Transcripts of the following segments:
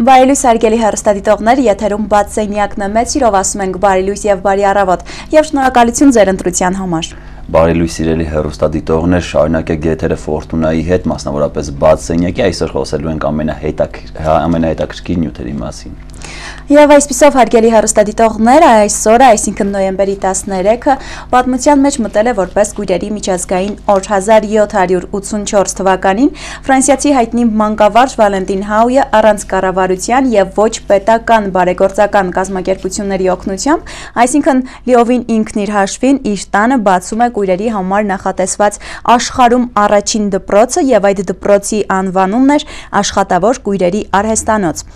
Բարելույս արգելի հեռուստադիտողներ, եթերում բաց սենյակն է, մեծ սիրով ասում ենք բարելույս եւ բարի առավոտ եւ շնորհակալություն ձեր ընտրության համար։ Բարելույս սիրելի հեռուստադիտողներ, շարունակեք եթերը Ֆորտունայի հետ, մասնավորապես բաց սենյակի, այսօր խոսելու ենք ամենահետաքրքիր նյութերի մասին։ Եվ այսպիսով հարգելի հեռուստադիտողներ, այսօրը, այսինքն նոյեմբերի 13-ը, պատմության մեջ մտել է որպես Կույրերի միջազգային օր 1784 թվականին ֆրանսիացի հայտնի մանկավարժ Վալենտին Հաույը առանց կառավարության եւ ոչ պետական բարեգործական կազմակերպությունների օգնությամբ, այսինքն լիովին ինքն իր հաշվին իր տանը բացում է Կույրերի համար նախատեսված աշխարհում առաջին դպրոցը եւ այդ դպրոցի անվանումն էր Աշխատավոր Կույրերի արհեստանոց։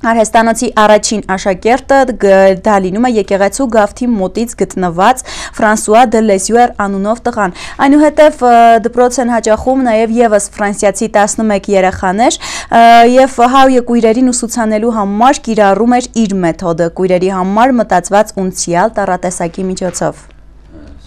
Արհեստանոցի առաջին աշակերտը դա լինում է եկեղեցու գավթի մոտից գտնված Ֆրանսուଆ դե Լեզյուեր անունով տղան։ Այնուհետև դպրոց են հաճախում նաև եւս ֆրանսիացի 11 երեխաներ եւ Հաույը կույրերին ուսուցանելու համար կիրառում էր իր մեթոդը, կույրերի համար մտածված ունցիալ տառատեսակի միջոցով։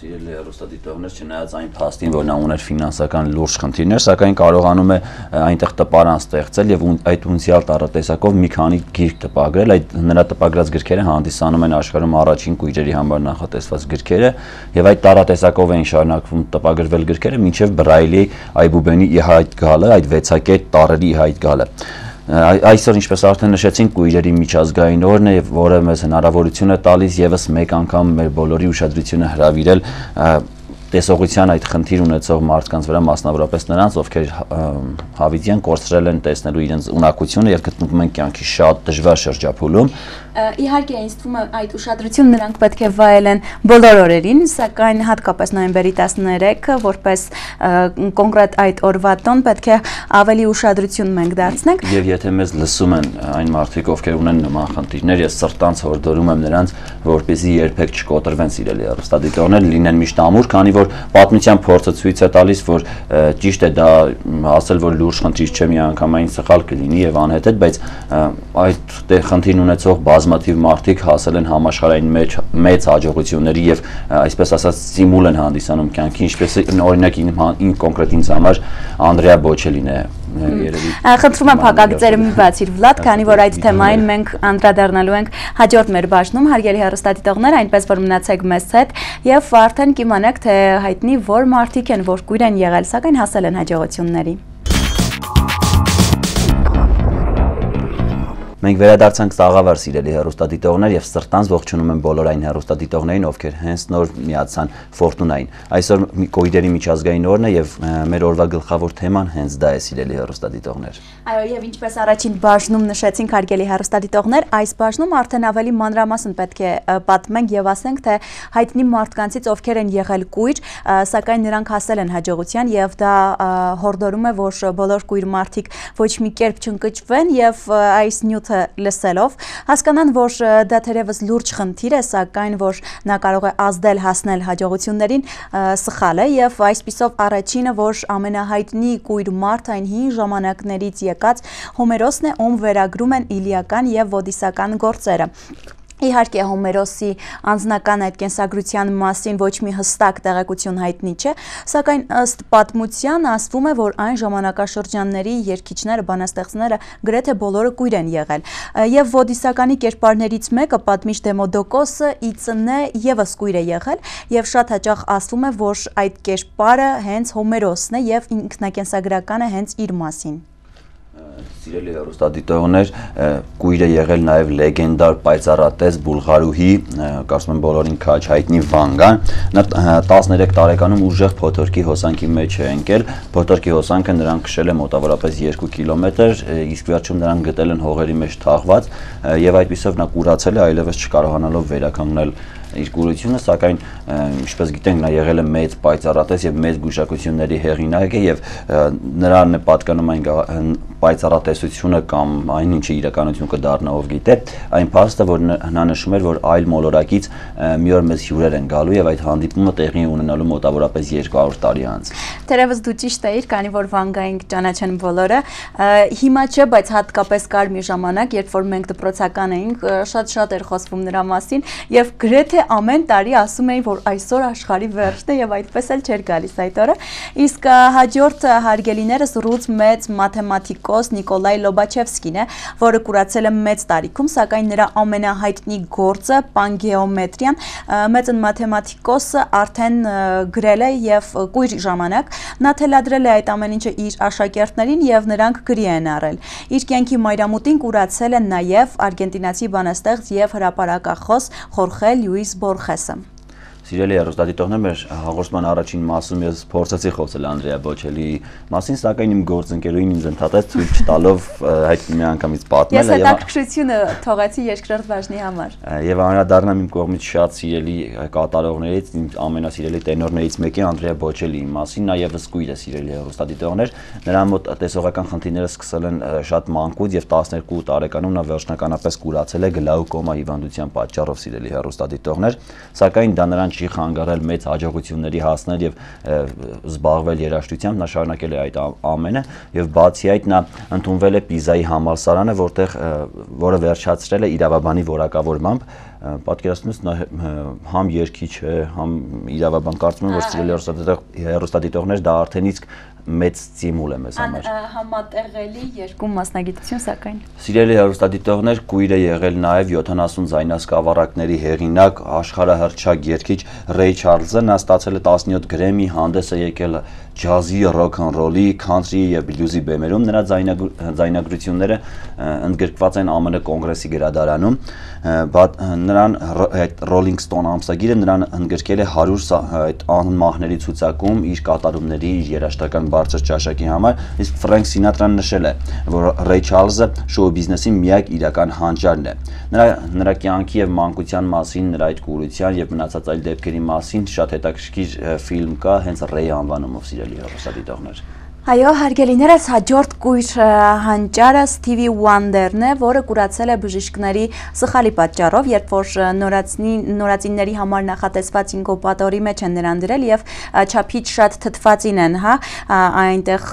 Սիրելի հեռուստադիտողներ, չնայած այն փաստին, որ նա ուներ ֆինանսական լուրջ խնդիրներ, սակայն կարողանում է այնտեղ տպարան ստեղծել եւ այդ ունցիալ տառատեսակով մի քանի գիրք տպագրել։ Այդ նրա տպագրած գրքերը հանդիսանում են աշխարհում առաջին կույրերի համար նախատեսված գրքերը եւ այդ տառատեսակով էին շարունակվում տպագրվել գրքերը մինչեւ Բրայլի Այբուբենի ի հայտ գալը, այդ 6 տառերի ի հայտ գալը։ Այսօր, ինչպես արդեն նշեցինք, Կույրերի միջազգային օրն է, որը մեզ հնարավորություն է տալիս եւս մեկ անգամ մեր բոլորի ուշադրությունը հրավիրել տեսողության այդ խնդիր ունեցող մարդկանց վրա, մասնավորապես նրանց, ովքեր հավիտյան կորցրել են տեսնելու իրենց ունակությունը եւ գտնվում են կյանքի շատ դժվար շրջափուլում։ Իհարկե, ինձ թվում է այդ ուշադրությունը նրանք պետք է վայելեն բոլոր օրերին, սակայն հատկապես նոյեմբերի 13-ը, որպես կոնկրետ այդ օրվա տոն, պետք է ավելի ուշադրություն մենք դարձնենք։ Եվ եթե մեզ լսում են այն մարդիկ, ովքեր ունեն նման խնդիրներ, ես սրտանց հորդորում եմ նրանց, որպեսզի երբեք չկոտրվեն, սիրելի հեռուստադիտողներ, լինեն միշտ ամուր, քանի որ պատմության փորձը ցույց է տալիս, որ ճիշտ է դա ասել, որ լուրջ խնդիր չէ, միանգամայն սխալ կլինի եւ անհետետ, բայց այդ խնդիրն ունեցող բազմաթիվ մարդիկ հասել են համաշխարհային մեծ հաջողությունների եւ այսպես ասած ստիմուլ են հանդիսանում կյանքի, ինչպես օրինակ ին կոնկրետ ինձ համար Անդրեա Բոչելին է երևի։ Խնդրում եմ փակագծերը մի բացիր Վլադ, քանի որ այդ թեմային մենք անդրադառնալու ենք հաջորդ մեր բաժնում, հարգելի հեռուստադիտողներ, այնպես որ մնացեք մեզ հետ եւ արդեն կիմանաք, թե հայտնի որ մարդիկ են, որ կույր են եղել, սակայն հասել են հաջողությունների։ Մենք վերադարձանք Սաղավար, սիրելի հեռուստադիտողներ, եւ սրտանց ողջունում եմ բոլոր այն հեռուստադիտողներին, ովքեր հենց նոր միացան Ֆորտունային։ Այսօր Կույրերի միջազգային օրն է եւ մեր օրվա գլխավոր թեման հենց դա է, սիրելի հեռուստադիտողներ։ Այո, եւ ինչպես առաջին բաժնում նշեցինք, հարգելի հեռուստադիտողներ, այս բաժնում արդեն ավելի մանրամասն պետք է պատմենք եւ ասենք, թե հայտնի մարդկանցից ովքեր են եղել կույր, սակայն նրանք հասել են հաջողության եւ դա հորդորում է, որ բոլոր կույր մարդիկ ոչ մի կերպ չընկճվեն եւ այս նյութը լսելով հասկանան, որ դա թերևս լուրջ խնդիր է, սակայն որ նա կարող է ազդել հասնել հաջողություններին, սխալ է եւ այսպիսով առաջինը, որ ամենահայտնի կույր մարդ այն հին ժամանակներից եկած Հոմերոսն է, ում վերագրում են իլիական եւ ոդիսական գործերը։ Իհարկե Հոմերոսի անձնական այդ կենսագրության մասին ոչ մի հստակ տեղեկություն հայտնի չէ, սակայն ըստ պատմության ասվում է, որ այն ժամանակաշրջանների երգիչները, բանաստեղծները գրեթե բոլորը կույր են եղել։ Եվ ոդիսականի կերպարներից մեկը, պատմիչ Դեմոդոկոսը, ի ծնե եւս կույր է եղել, եւ շատ հաճախ ասվում է, որ այդ կերպարը հենց Հոմերոսն է եւ ինքնակենսագրական է հենց իր մասին։ Սիրելի հեռուստադիտողներ, կույր է եղել նաև լեգենդար պայծառատես Բուլղարուհի, կարծում եմ բոլորին քաչ հայտնի Վանգան։ Նա 13 տարեկանում ուժեղ փոթորկի հոսանքի մեջ է ընկել։ Փոթորկի հոսանքը նրան քշել է մոտավորապես 2 կիլոմետր, իսկ վերջում նրան գտել են հողերի մեջ թաղված եւ այդպիսով նա կուրացել է, այլևս չկարողանալով վերականգնել իր կուրությունը, սակայն ինչպես գիտենք, նա եղել է մեծ պայծառատես եւ մեծ գուշակությունների հեղինակը եւ նրան է պատկանում այն պայծառատեսությունը կամ այն ինչը իրականություն կդառնա, ով գիտե, այն փաստը, որ նա նշում էր, որ այլ մոլորակից մի օր մեզ հյուրեր են գալու եւ այդ հանդիպումը տեղի ունենալու մոտավորապես 200 տարի անց։ Թերևս դու ճիշտ էիր, քանի որ Վանգային ճանաչեն բոլորը։ Հիմա չէ, բայց հատկապես կար մի ժամանակ, երբ որ մենք դպրոցական էինք, շատ էր խոսվում նրա մասին եւ գրեթե ամեն տարի ասում էին, որ այսօր աշխարհի վերջն է եւ այդպես էլ չէր գալիս այդ օրը։ Իսկ հաջորդ հարգելիներս ռուս մեծ մաթեմատիկոս մաթեմատիկոս Նիկոլայ Լոբաչևսկին է, որը կուրացել է մեծ տարիքում, սակայն նրա ամենահայտնի գործը պանգեոմետրիան մեծն մաթեմատիկոսը արդեն գրել է եւ կույր ժամանակ նա թելադրել է այդ ամեն ինչը իր աշակերտներին եւ նրանք գրի են առել։ Իր կյանքի մայրամուտին կուրացել է նաեւ արգենտինացի բանաստեղծ եւ հրապարակախոս Խորխե Լյուիս Բորխեսը։ Սիրելի հեռուստադիտողներ, մեր հաղորդման առաջին մասում ես փորձեցի խոսել Անդրեա Բոչելիի մասին, սակայն իմ գործընկերուհին ինձ ընդհատեց ցույց տալով այդ միանգամից պատմել։ Ես հետաքրքրությունը թողեցի երկրորդ բաժնի համար։ Եվ անդրադառնամ իմ կողմից շատ սիրելի կատարողներից, իմ ամենասիրելի տենորներից մեկի Անդրեա Բոչելիի մասին, նա եւս կույր է, սիրելի հեռուստադիտողներ։ Նրա մոտ տեսողական խնդիրները սկսել են շատ մանկուց եւ 12 տարեկանում նա վերջնականապես կուրացել է գլաուկոմա հիվանդության պատճառով, սիրելի հեռուստադիտողներ, սակայն դա նրան չի խանգարել մեծ հաջողությունների հասնել եւ զբաղվել երաժշտությամբ, նա շարունակել է այդ ամենը եւ բացի այդ նա ընդունվել է Պիզայի համալսարանը, որը վերջացրել է իրավաբանի որակավորմամբ, պատկերացնում ես նա համ երգիչ է, համ իրավաբան, կարծում եմ, որ սիրելի հեռուստադիտողներ դա արդեն իսկ մեծ ստիմուլ է մեզ համար։ Համատեղելի երկու մասնագիտություն, սակայն։ Սիրելի հեռուստադիտողներ, կույր է եղել նաև 70 ձայնասկավառակների հեղինակ, աշխարհահռչակ երգիչ Ռեյ Չարլզը, նա ստացել է 17 գրեմի, հանդես է եկել ջազի, ռոք-ն-ռոլի, քանթրի եւ բլյուզի բեմերում, նրա ձայնագրությունները ընդգրկված են ԱՄՆ կոնգրեսի գրադարանում, նրան Rolling Stone ամսագիրը նրան ընդգրկել է 100 այդ անմահների ցուցակում իր կատարումների, իր երաժշտական բարձր ճաշակի համար, իսկ Ֆրենք Սինատրան նշել է, որ Ռեյ Չարլզը շոու բիզնեսի միակ իրական հանճարն է։ Նրա կյանքի եւ մանկության մասին, նրա այդ կուրության եւ մնացած այլ դեպքերի մասին շատ հետաքրքիր ֆիլմ կա հենց Ռեյ անվանումով, սիրելի հեռուստադիտողներ։ Այո, հարգելիներս, հաջորդ կույր հանճարը Սթիվի Ուանդերն է, որը կուրացել է բժիշկների սխալի պատճառով, երբ որ նորածինների համար նախատեսված ինկուբատորի մեջ են նրան դրել եւ չափից շատ թթվածին են, այնտեղ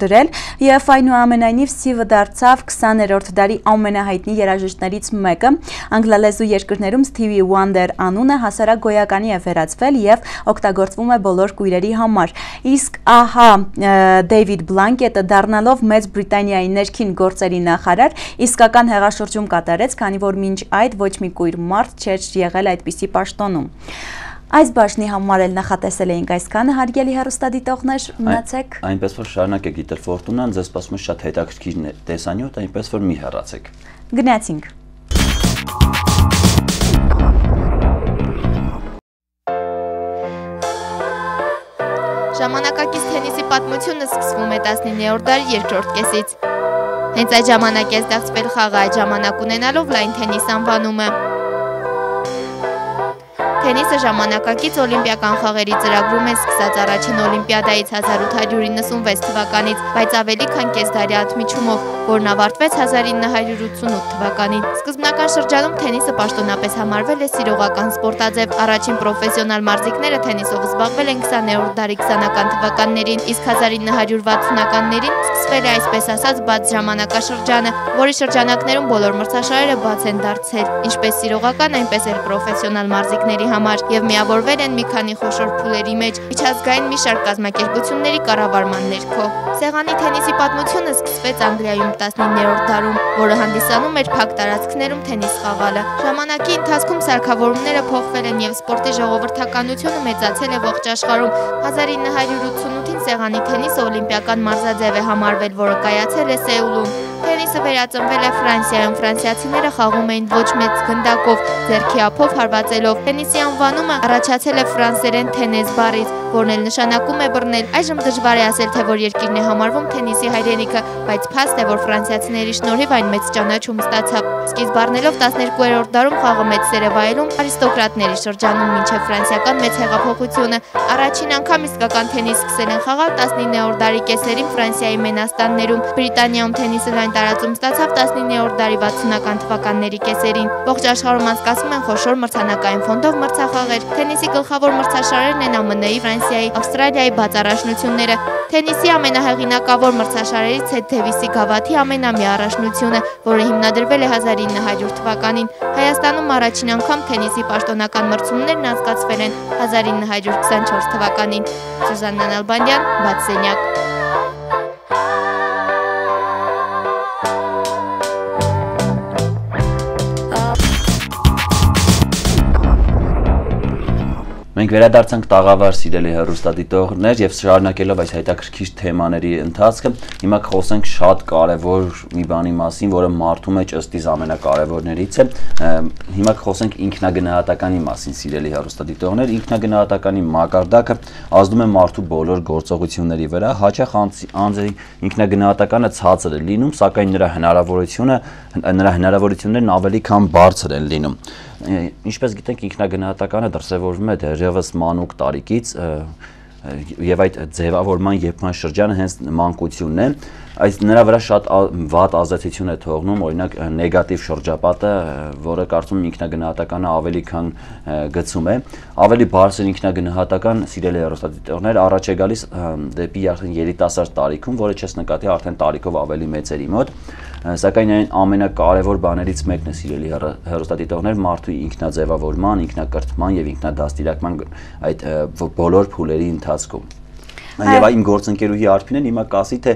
դրել եւ այնուամենայնիվ Սթիվը դարձավ 20-րդ դարի ամենահայտնի երաժիշտներից մեկը։ Անգլալեզու երկրներում Սթիվի Ուանդեր անունը հասարակ գոյականի է վերածվել եւ օգտագործվում է բոլոր կույրերի համար։ Իսկ ահա Դեյվիդ Բլանկետը դառնալով Մեծ Բրիտանիայի ներքին գործերի նախարար իսկական հեղաշրջում կատարեց, քանի որ մինչ այդ ոչ մի կույր մարդ չէր եղել այդպիսի պաշտոնում։ Այս բաժնի համար էլ նախատեսել էինք այսքանը, հարգելի հեռուստադիտողներ, մնացեք։ Այնպես որ շարունակեք Գիտեր Ֆորտունան, ձեզ սպասում է շատ հետաքրքիր տեսանյութ, այնպես որ մի հեռացեք։ Գնացինք։ Ժամանակակից թենիսի պատմությունը սկսվում է 19-րդ դարի երկրորդ կեսից։ Հենց այդ ժամանակ է ստեղծվել խաղը այդ ժամանակ ունենալով լայն թենիս անվանումը։ Թենիսը ժամանակակից օլիմպիական խաղերի ծրագրում է սկսած առաջին օլիմպիադայից 1896 թվականից, բայց ավելի քան կեսդարի ընդմիջումով, որն ավարտվեց 1988 թվականին։ Սկզբնական շրջանում թենիսը պաշտոնապես համարվել է սիրողական սպորտաձև, առաջին պրոֆեսիոնալ մարզիկները թենիսով զբաղվել են 20-րդ դարի 20-ական թվականներին, իսկ 1960-ականներին սկսվել է այսպես ասած բաց ժամանակաշրջանը, որի շրջանակներում բոլոր մրցաշարերը բաց են դարձել, ինչպես սիրողական, այնպես էլ պրոֆեսիոնալ մարզիկների համար եւ միավորվել են մի քանի խոշոր փուլերի մեջ միջազգային մի շարք կազմակերպությունների կառավարման ներքո։ Սեղանի թենիսի պատմությունը սկսվեց Անգլիայում 19-րդ դարում, որը հանդիսանում էր փակ տարածքներում թենիս խաղալը։ Ժամանակի ընթացքում սարքավորումները փոխվել են եւ սպորտի ժողովրդականությունը մեծացել է ողջ աշխարհում։ 1988-ին սեղանի թենիսը օլիմպիական մարզաձև է համարվել, որը կայացել է Սեուլում։ Թենիսը վերածնվել է Ֆրանսիայում, ֆրանսիացիները խաղում էին ոչ մեծ գնդակով, ձեռքի ափով հարվածելով։ Թենիսի անվանումը առաջացել է ֆրանսերեն թենես բառից, որն էլ նշանակում է բռնել։ Այժմ դժվար է ասել, թե որ երկիրն է համարվում թենիսի հայրենիքը, բայց փաստ է, որ ֆրանսիացիների շնորհիվ այն մեծ ճանաչում ստացավ։ Սկիզբ առնելով 12-րդ դարում խաղը մեծ սեր է վայելում արիստոկրատների շրջանում մինչև ֆրանսիական մեծ հեղափոխությունը։ Առաջին անգամ իսկական թենիս սկսել են խաղալ 19-րդ դարի կեսերին Ֆրանսիայի Մենաստաններում։ Բրիտանիայում թենիսը լայն տարածում ստացավ 19-րդ դարի 60-ական թվականների կեսերին։ Ողջ աշխարհում անցկացվում են խոշոր մրցանակային ֆոնդով մրցախաղեր։ Թենիսի գլխավոր մրցաշարերն են ԱՄՆ-ի, Ֆրանսիայի, Ավստրալիայի բաց առաջնությունները։ Թենիսի ամենահեղինակավոր մրցաշարերից է Դեվիսի գավաթի ամենամյա առաջնությունը, որը հիմնադրվել է 1900 թվականին։ Հայաստանում առաջին անգամ թենիսի պաշտոնական մրցումներն անցկացվել են 1924 թվականին։ Սուզաննա Նալբանդյան, Բացենյակ։ Մենք վերադարձանք տաղավար սիրելի հեռուստադիտողներ եւ շարունակելով այս հետաքրքիր թեմաների ընթացքը, հիմա կխոսենք շատ կարեւոր մի բանի մասին, որը մարդու մեջ ըստիս ամենակարևորներից է։ Հիմա կխոսենք ինքնագնահատականի մասին, սիրելի հեռուստադիտողներ։ Ինքնագնահատականի մակարդակը ազդում է մարդու բոլոր գործողությունների վրա, հաճախ անձի ինքնագնահատականը ցածր է լինում, սակայն նրա հնարավորություններն ավելի քան բարձր են լինում։ Ինչպես գիտենք, ինքնագնահատականը դրսևորվում է դեռևս մանուկ տարիքից եւ այդ ձևավորման երբման շրջանը հենց մանկությունն է, այս նրա վրա շատ վատ ազդեցություն է թողնում, օրինակ նեգատիվ շրջապատը, որը կարծում եմ ինքնագնահատականը ավելի քան գցում է, ավելի բարձր ինքնագնահատական, սիրելի հեռուստադիտողներ, առաջ է գալիս դեպի երիտասարդ տարիքում, որը չես նկատի արդեն տարիքով ավելի մեծերի մոտ, սակայն այն ամենակարևոր բաներից մեկն է, սիրելի հեռուստադիտողներ, մարդու ինքնաձևավորման, ինքնակրթման եւ ինքնադաստիարակման այդ բոլոր փուլերի ընթացքում։ Եվ իմ գործընկերուհի Արփինեն հիմա կասի, թե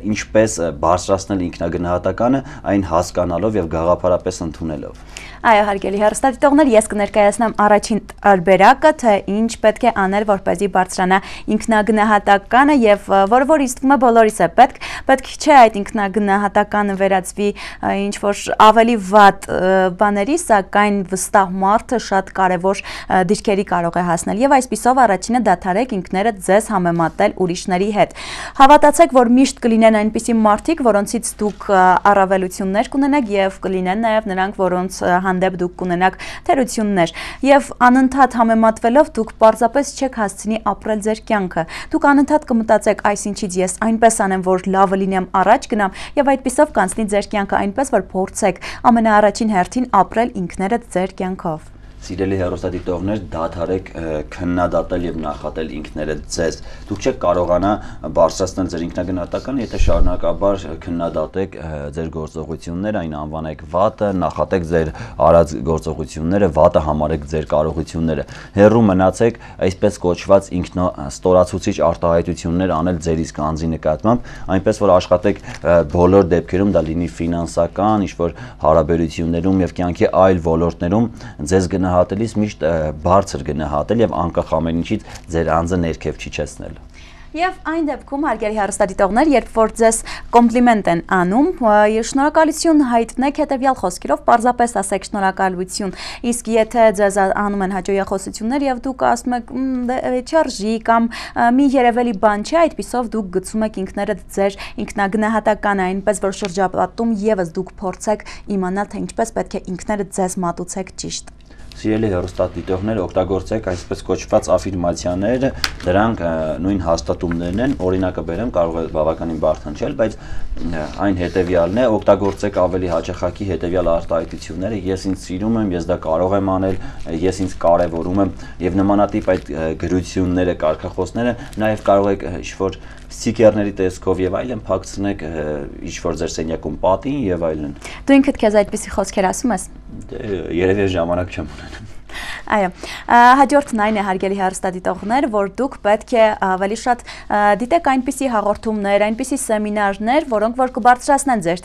ինչպես բարձրացնել ինքնագնահատականը, այն հասկանալով եւ գաղափարապես ընդունելով։ Այո, հարգելի հեռուստադիտողներ, ես կներկայացնեմ առաջին տարբերակը, թե ինչ պետք է անել, որպեսզի բարձրանա ինքնագնահատականը եւ որ իստվում է բոլորիս է պետք չէ այդ ինքնագնահատականը վերածվի ինչ որ ավելի վատ բաների, սակայն վստահ մարդը շատ կարեւոր դիրքերի կարող է հասնել եւ այսպիսով առաջինը դադարեք ինքներդ ձեզ համեմատել ուրիշների հետ։ Հավատացեք, որ միշտ կլինեն այնպիսի մարդիկ, որոնցից դուք առավելություններ կունենաք եւ կլինեն նաեւ նրանք, որոնց հանդեպ դուք կունենաք թերություններ եւ անընդհատ համեմատվելով դուք պարզապես չեք հասցնի ապրել ձեր կյանքը։ Դուք անընդհատ կմտածեք, այսինչից ես այնպես անեմ, որ լավը լինեմ, առաջ գնամ եւ այդպիսով կանցնի ձեր կյանքը այնպես, որ փորձեք ամենաառաջին հերթին ապրել ինքներդ ձեր կյանքով։ Սիրելի հեռուստադիտողներ, դադարեք քննադատել եւ նախատել ինքներդ ձեզ։ Դուք չեք կարողանա բարձրացնել ձեր ինքնագնահատականը, եթե շարունակաբար քննադատեք ձեր գործողությունները, այն անվանեք վատը, նախատեք ձեր արած գործողությունները, վատը համարեք ձեր կարողությունները։ Հեռու մնացեք այսպես կոչված ինքնաստորացուցիչ արտահայտություններ անել ձեր իսկ անձի նկատմամբ, այնպես որ աշխատեք բոլոր դեպքերում, դա լինի ֆինանսական, ինչ-որ հարաբերություններում եւ կյանքի այլ ոլորտներում ձեզ գնահատելիս միշտ բարձր գնահատել եւ անկախ ամեն ինչից ձեր անձը ներքև չիջեցնել։ Եվ այն դեպքում, հարգելի հեռուստադիտողներ, երբ որ ձեզ կոմպլիմենտ են անում, շնորհակալություն հայտնեք հետևյալ խոսքերով, պարզապես ասեք շնորհակալություն, իսկ եթե ձեզ անում են հաճոյախոսություններ եւ դուք ասում եք չարժի կամ մի երևելի բան չէ, այդպիսով դուք գցում եք ինքներդ ձեր ինքնագնահատականը, այնպես որ շրջապատում եւս դուք փորձեք իմանալ, թե ինչպես պետք է ինքներդ ձեզ մատուցեք ճիշտ։ Սիրելի հեռուստադիտողներ, օգտագործեք այսպես կոչված աֆիրմացիաներ, դրանք նույն հաստատումներն են, օրինակը բերեմ, կարող է բավականին բարդ հնչել, բայց այն հետևյալն է, օգտագործեք ավելի հաճախակի հետևյալ արտահայտությունները, ես ինձ սիրում եմ, ես դա կարող եմ անել, ես ինձ կարևորում եմ եւ նմանատիպ այդ գրությունները, կարգախոսները նաեւ կարող եք ինչ-որ ստիկերների տեսքով եւ այլն փակցնեք ինչ-որ ձեր սենյակում պատին եւ այլն։ Դու ինքդ քեզ այդպիսի խոսքեր ասում ես։ Երևի ժամանակ չեմ ունենում։ Այո, հաջորդն այն է, հարգելի հեռուստադիտողներ, որ դուք պետք է ավելի շատ դիտեք այնպիսի հաղորդումներ, այնպիսի սեմինարներ, որոնք որ կբարձրացնեն ձեր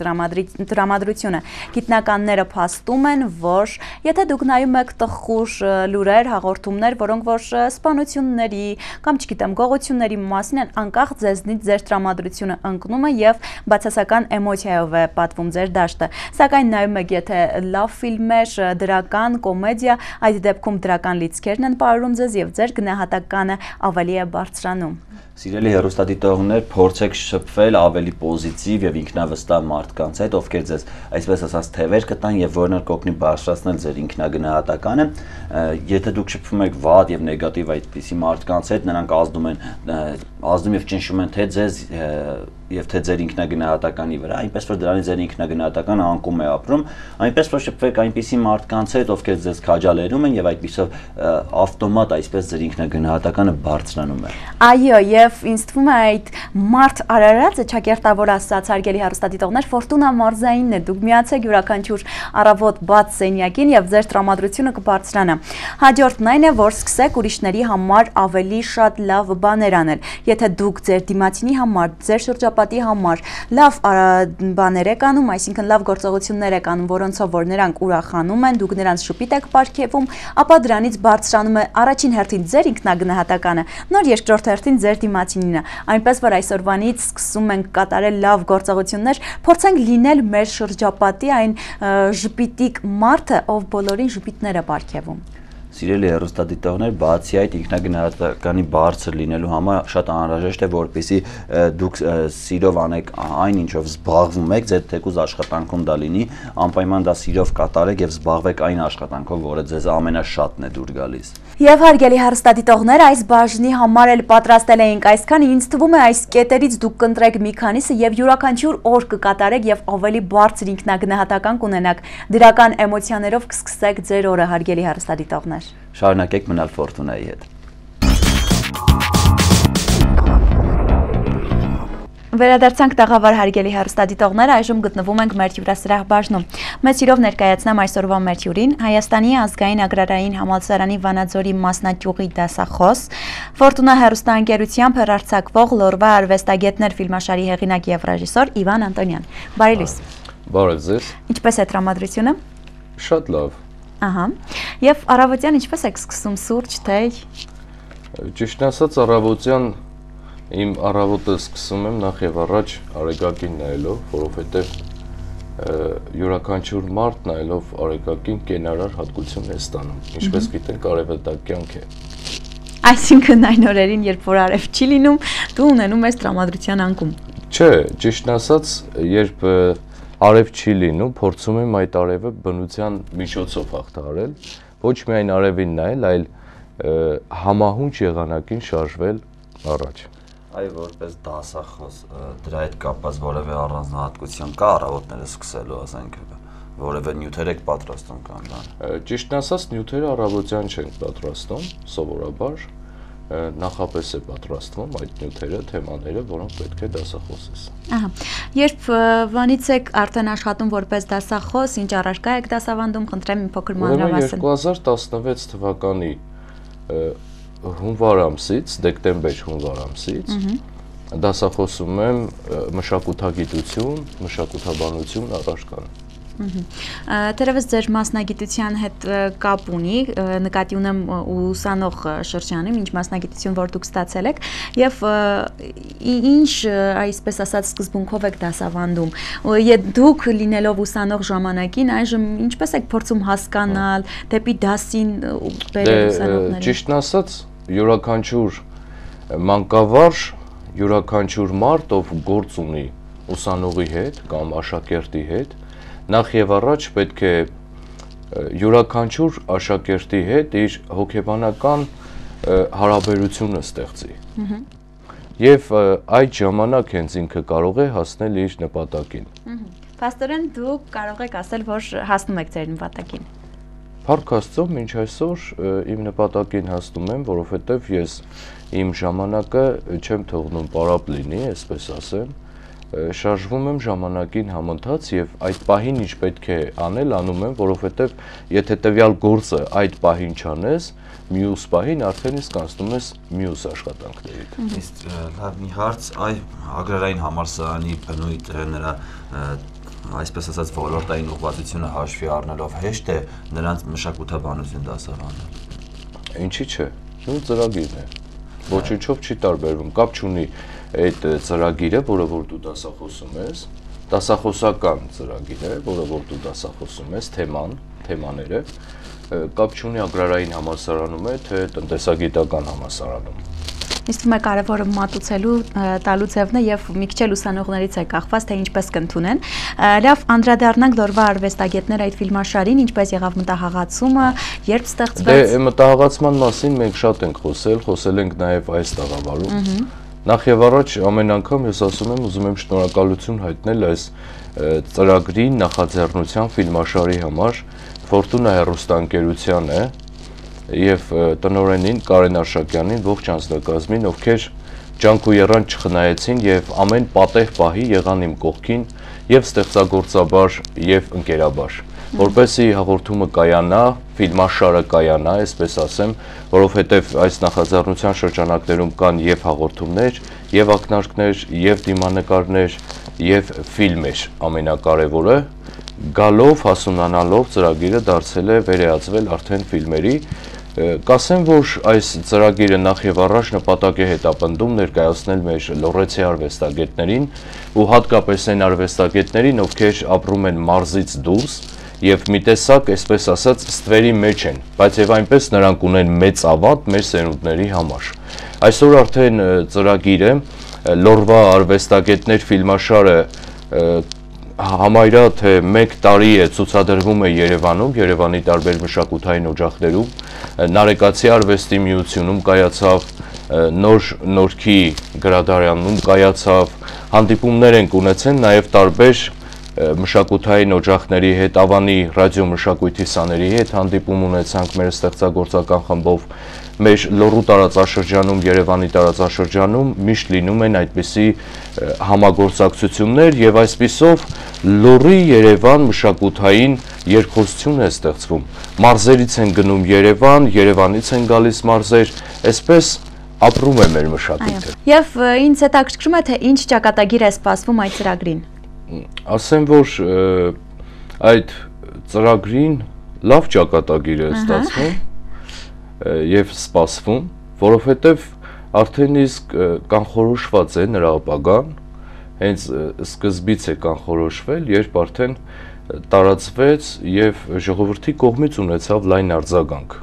տրամադրությունը։ Գիտնականները փաստում են, որ եթե դուք նայում եք տխուր լուրեր, հաղորդումներ, որոնք որ սպանությունների կամ չգիտեմ, գողությունների մասին են, անկախ ձեզնից ձեր տրամադրությունը ընկնում է եւ բացասական էմոցիայով է պատվում ձեր դաշտը։ Սակայն նայում եք, եթե լավ ֆիլմեր, դրական, կոմեդիա, այդ դեպքում դրական լիցքերն են պարուրում ձեզ եւ ձեր գնահատականը ավելի է բարձրանում։ Սիրելի հեռուստադիտողներ, փորձեք շփվել ավելի պոզիտիվ եւ ինքնավստահ մարդկանց հետ, ովքեր ձեզ այսպես ասած թևեր կտան եւ որոնք կօգնի բարձրացնել ձեր ինքնագնահատականը։ Եթե դուք շփվում եք վատ եւ նեգատիվ այդպիսի մարդկանց հետ, նրանք ազդում եւ ճնշում են թե ձեզ եւ թե ձեր ինքնագնահատականի վրա, այնպես որ դրանից ձեր ինքնագնահատականը անկում է ապրում, այնպես որ շփվեք այնպիսի մարդկանց հետ, ովքեր ձեզ քաջալերում են եւ այդպիսով ավտոմատ այսպես ձեր ինքնագնահատականը բարձրանում է։ Այո, եւ ինձ թվում է այդ մարդ արարածը ճակերտավոր ասած հարգելի հեռուստադիտողներ Ֆորտունա մարզայինն է դուք միացեք յուրաքանչյուր առավոտ բաց սենյակին եւ ձեր տրամադրությունը կբարձրանա հաջորդն այն է որ սկսեք ուրիշների համար ավելի շատ լավ բաներ անել եթե դուք ձեր դիմացինի համար ձեր շրջապատի համար լավ բաներ եք անում այսինքն լավ գործողություններ եք անում որոնցով որ նրանք ուրախանում են դուք նրանց շփիտ եք պարգևում ապա դրանից բարձրանում է առաջին հերթին ձեր ինքնագնահատականը նոր երկրորդ հերթին ձեր դիմացինինը այնպես որ այսօրվանից սկսում ենք կատարել լավ գործողություններ փորձենք լինել մեր շրջապատի այն ժպիտիկ մարդը ով բոլորին ժպիտներ է պարգևում Սիրելի հեռուստադիտողներ, բացի այդ ինքնագնահատականի բարձր լինելու համար շատ անհրաժեշտ է, որպեսզի դուք սիրով անեք այն ինչով զբաղվում եք, ձեր թեկուզ աշխատանքում դա լինի, անպայման դա սիրով կատարեք եւ զբաղվեք այն աշխատանքով, որը ձեզ ամենաշատն է դուր գալիս։ Եվ հարգելի հեռուստադիտողներ, այս բաժնի համար էլ պատրաստել էինք այսքան, ինձ թվում է այս կետերից դուք կընտրեք մի քանիսը եւ յուրաքանչյուր օր կկատարեք եւ ավելի բարձր ինքնագնահատական կունենաք։ Դրական էմոցիաներով կսկսեք ձեր օրը, հարգելի հեռուստադիտողներ։ Շարունակեք մնալ Ֆորտունայի հետ։ Վերադարձանք տաղավար հարգելի հեռուստադիտողներ, այժմ գտնվում ենք մեր հյուրասրահ բաժնում։ Մեծ սիրով ներկայացնեմ այսօրվա մեր հյուրին, Հայաստանի ազգային agrarային համալսարանի Վանաձորի մասնաճյուղի դասախոս, Ֆորտունա հեռուստաընկերությամբ հեռարձակվող Լորվա արվեստագետներ ֆիլմաշարի հեղինակ եւ ռեժիսոր Իվան Անտոնյան։ Բարի լույս։ Բարև ձեզ։ Ինչպես է տրամադրությունը։ Շատ լավ։ Ահա։ Եվ առավոտյան ինչպես եք սկսում սուրճ, թեյ։ Ճիշտ ասած առավոտյան Իմ առավոտը սկսում եմ նախ եւ առաջ արեգակին նայելով, որովհետեւ յուրաքանչյուր մարդ նայելով արեգակին կենարար հատկություն է ստանում։ Ինչպես գիտենք, արևը դա կյանք է։ Այսինքն այն օրերին, երբ որ արև չի լինում, դու ունենում ես տրամադրության անկում։ Չէ, ճիշտ ասած, երբ արև չի լինում, փորձում եմ այդ արևը բնության միջոցով հաղթահարել, ոչ միայն արևին նայել, այլ համահունչ եղանակին շարժվել առաջ։ Այ որպես դասախոս դրա հետ կապված որևէ առանձնահատկություն կա առավոտները սկսելու, ասենք, որևէ նյութեր եք պատրաստում կամ բան։ Ճիշտն ասած, նյութերը առավոտյան չենք պատրաստում, սովորաբար նախապես է պատրաստվում այդ նյութերը, թեմաները, որոնք պետք է դասախոսես։ Ահա։ Երբ վանից եք արդեն աշխատում որպես դասախոս, ինչ առարկա եք դասավանդում, խնդրեմ մի փոքր մանրամասն։ 2016 թվականի հունվար ամսից, դեկտեմբեր-հունվար ամսից դասախոսում եմ մշակութագիտություն, մշակութաբանություն առարկան։ Թերևս ձեր մասնագիտության հետ կապ ունի, նկատի ունեմ ուսանող շրջանում, ինչ մասնագիտություն որ դուք ստացել եք եւ ինչ այսպես ասած սկզբունքով եք դասավանդում։ Դուք լինելով ուսանող ժամանակին այժմ ինչպես եք փորձում հասկանալ դեպի դասին բերել ուսանողներին։ Ճիշտն ասած, յուրաքանչյուր մանկավարժ, յուրաքանչյուր մարդ, ով գործ ունի ուսանողի հետ կամ աշակերտի հետ, նախ եւ առաջ պետք է յուրաքանչյուր աշակերտի հետ իր հոգեբանական հարաբերությունը ստեղծի։ Եվ այդ ժամանակ հենց ինքը կարող է հասնել իր նպատակին։ Փաստորեն դուք կարող եք ասել, որ հասնում եք ձեր նպատակին։ Փառք Աստծո, մինչ այսօր իմ նպատակին հասնում եմ, որովհետև ես իմ ժամանակը չեմ թողնում պարապ լինի, այսպես ասեմ, շարժվում եմ ժամանակին համընթաց եւ այդ պահին ինչ պետք է անել, անում եմ, որովհետև եթե տվյալ գործը այդ պահին չանես, մյուս պահին արդեն իսկ անցնում ես մյուս աշխատանքներիդ։ Իսկ լավ մի հարց, այ agrarային համալսարանի բնույթ նրա այսպես ասած ոլորտային ուղղվածությունը հաշվի առնելով հեշտ է նրանց մշակութաբանություն դասավանդել։ Ինչի՞ չէ, նույն ծրագիրն է։ Ոչինչով չի տարբերվում, կապ չունի այդ ծրագիրը, որը որ դու դասախոսում ես, դասախոսական ծրագիր է, որը որ դու դասախոսում ես, թեմաները, կապ չունի agrarային համալսարանում է, թե տնտեսագիտական համալսարանում։ Ինձ թվում է կարևորը մատուցելու տալու ձևն է եւ մի քիչ ուսանողներից է կախված թե ինչպես կընդունեն։ Լավ, անդրադառնանք Լորվա արվեստագետներ այդ ֆիլմաշարին, ինչպես եղավ մտահղացումը, երբ ստեղծվեց։ Դե մտահղացման մասին մենք շատ ենք խոսել ենք նաեւ այս տաղավարում։ Նախ եւ առաջ ամեն անգամ ես ասում եմ, ուզում եմ շնորհակալություն հայտնել այս ծրագրի նախաձեռնության ֆիլմաշարի համար Ֆորտունա հեռուստաընկերությանը եւ տնօրենին Կարեն Արշակյանին, ողջ անձնակազմին, ովքեր ջանք ու եռան չխնայեցին եւ ամեն պատեհ պահի եղան իմ կողքին եւ ստեղծագործաբար եւ ընկերաբար, որպեսզի հաղորդումը կայանա, ֆիլմաշարը կայանա, այսպես ասեմ, որովհետեւ այս նախաձեռնության շրջանակներում կան եւ հաղորդումներ, եւ ակնարկներ, եւ դիմանկարներ, եւ ֆիլմեր, ամենակարևորը գալով հասունանալով ծրագիրը դարձել է վերեածվել արդեն ֆիլմերի։ Կասեմ, որ այս ծրագիրը նախ եւ առաջ նպատակ է հետապնդում ներկայացնել մեր լոռեցի արվեստագետներին ու հատկապես այն արվեստագետներին, ովքեր ապրում են մարզից դուրս եւ մի տեսակ, այսպես ասած, ստվերի մեջ են, բայց եւ այնպես նրանք ունեն մեծ ավատ մեր սերունդների համար։ Այսօր արդեն ծրագիրը լոռվա արվեստագետներ ֆիլմաշարը համարյա թե 1 տարի է ցուցադրվում է Երևանում, Երևանի տարբեր մշակութային օջախներում, Նարեկացի արվեստի միությունում կայացավ, Նորքի գրադարանում կայացավ, հանդիպումներ են ունեցել նաև տարբեր մշակութային օջախների հետ, Ավանի ռադիոմշակույթի սաների հետ հանդիպում ունեցանք մեր ստեղծագործական խմբով, մեր լոռու տարածաշրջանում, Երևանի տարածաշրջանում միշտ լինում են այդպիսի համագործակցություններ եւ այսպիսով լոռի Երևան մշակութային երկխոսություն է ստեղծվում։ Մարզերից են գնում Երևան, Երևանից են գալիս մարզեր, այսպես ապրում է մեր մշակույթը։ Եվ ինձ հետաքրքրում է թե ինչ ճակատագիր է սպասվում այդ ծրագրին։ Ասեմ, որ այդ ծրագրին լավ ճակատագիր է ստացվում եւ սպասվում, որովհետեւ արդեն իսկ կանխորոշված է նրա ապագան, հենց սկզբից է կանխորոշվել, երբ արդեն տարածվեց եւ ժողովրդի կողմից ունեցավ լայն արձագանք։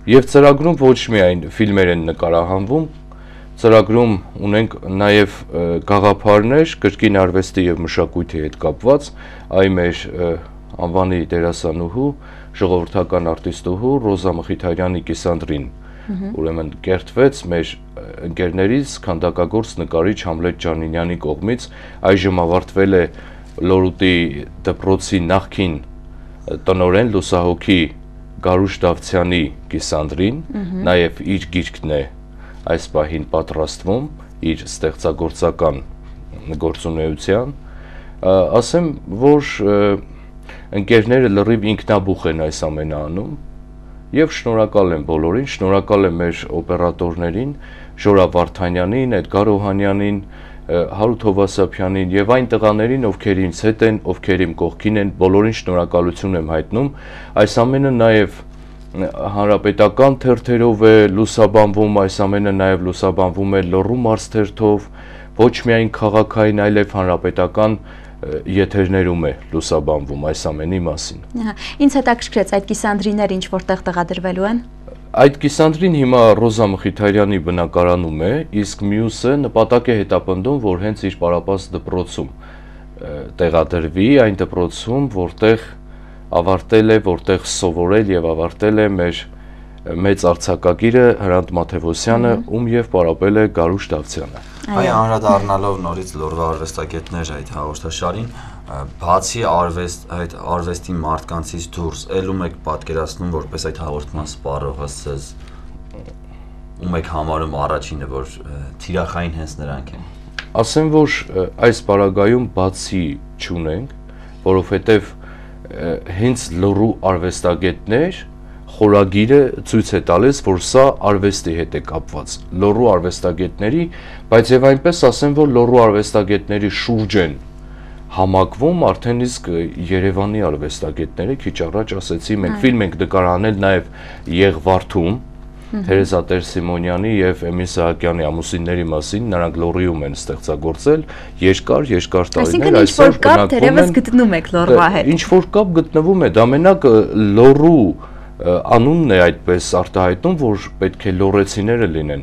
Եվ ծրագրում ոչ միայն ֆիլմեր են նկարահանվում, ծրագրում ունենք նաև գաղափարներ կրկին արվեստի եւ մշակույթի հետ կապված, այ մեր անվանի դերասանուհու, ժողովրդական արտիստուհու Ռոզա Մխիթարյանի Կիսանդրին, ուրեմն կերտվեց մեր ընկերներից քանդակագործ նկարիչ Համլետ Ջանինյանի կողմից, այժմ ավարտվել է Լոռուտի դպրոցի նախկին տնօրեն լուսահոգի Գարուշ Դավթյանի Կիսանդրին, նաև իր գիրքն է այս պահին պատրաստվում իր ստեղծագործական գործունեության, ասեմ, որ ընկերները լրիվ ինքնաբուխ են այս ամենը անում եւ շնորհակալ եմ բոլորին, շնորհակալ եմ մեր օպերատորներին, Ժորա Վարդանյանին, Էդգար Օհանյանին, Հարութ Հովասափյանին եւ այն տղաներին, ովքեր ինձ հետ են, ովքեր իմ կողքին են, բոլորին շնորհակալություն եմ հայտնում։ Այս ամենը նաեւ հանրապետական թերթերով է լուսաբանվում, այս ամենը նաև լուսաբանվում է Լոռու մարզ թերթով, ոչ միայն քաղաքային, այլև հանրապետական եթերներում է լուսաբանվում այս ամենի մասին։ Ինձ հետաքրքրեց այդ կիսանդրիները ինչ որտեղ տեղադրվելու են։ Այդ կիսանդրին հիմա Ռոզա Մխիթարյանի բնակարանում է, իսկ մյուսը նպատակ է հետապնդում, որ հենց իր պարապած դպրոցում տեղադրվի, այն դպրոցում, որտեղ ավարտել է, որտեղ սովորել եւ ավարտել է մեր մեծ արձակագիրը Հրանտ Մաթեւոսյանը, ում եւ պարապել է Գարուշ Դավթյանը։ Այ անդրադառնալով նորից լոռվա արվեստագետներ այդ հաղորդաշարին, բացի այդ արվեստի մարդկանցից դուրս, ելում եք պատկերացնում որպես այդ հաղորդման սպառողը ցեզ ում եք համարում առաջինը, որ թիրախային հենց նրանք են։ Ասեմ, որ այս պարագայում բացի չունենք, որովհետեւ հենց լոռու արվեստագետներ խորագիրը ցույց է տալիս, որ սա արվեստի հետ է կապված, լոռու արվեստագետների, բայց եւ այնպես ասեմ, որ լոռու արվեստագետների շուրջ են համակվում արդեն իսկ Երևանի արվեստագետները, քիչ առաջ ասեցի, մենք ֆիլմ ենք նկարահանել նաեւ Եղվարդում, Թերեզա Տեր-Սիմոնյանի եւ Էմիլ Սահակյանի ամուսինների մասին, նրանք լոռիում են ստեղծագործել երկար տարիներ, այսօր բնակվում գտնում եք լոռվա հետ։ Ինչ որ կապ գտնվում է, դա մենակ լոռու անունն է այդպես արտահայտում, որ պետք է լոռեցիները լինեն,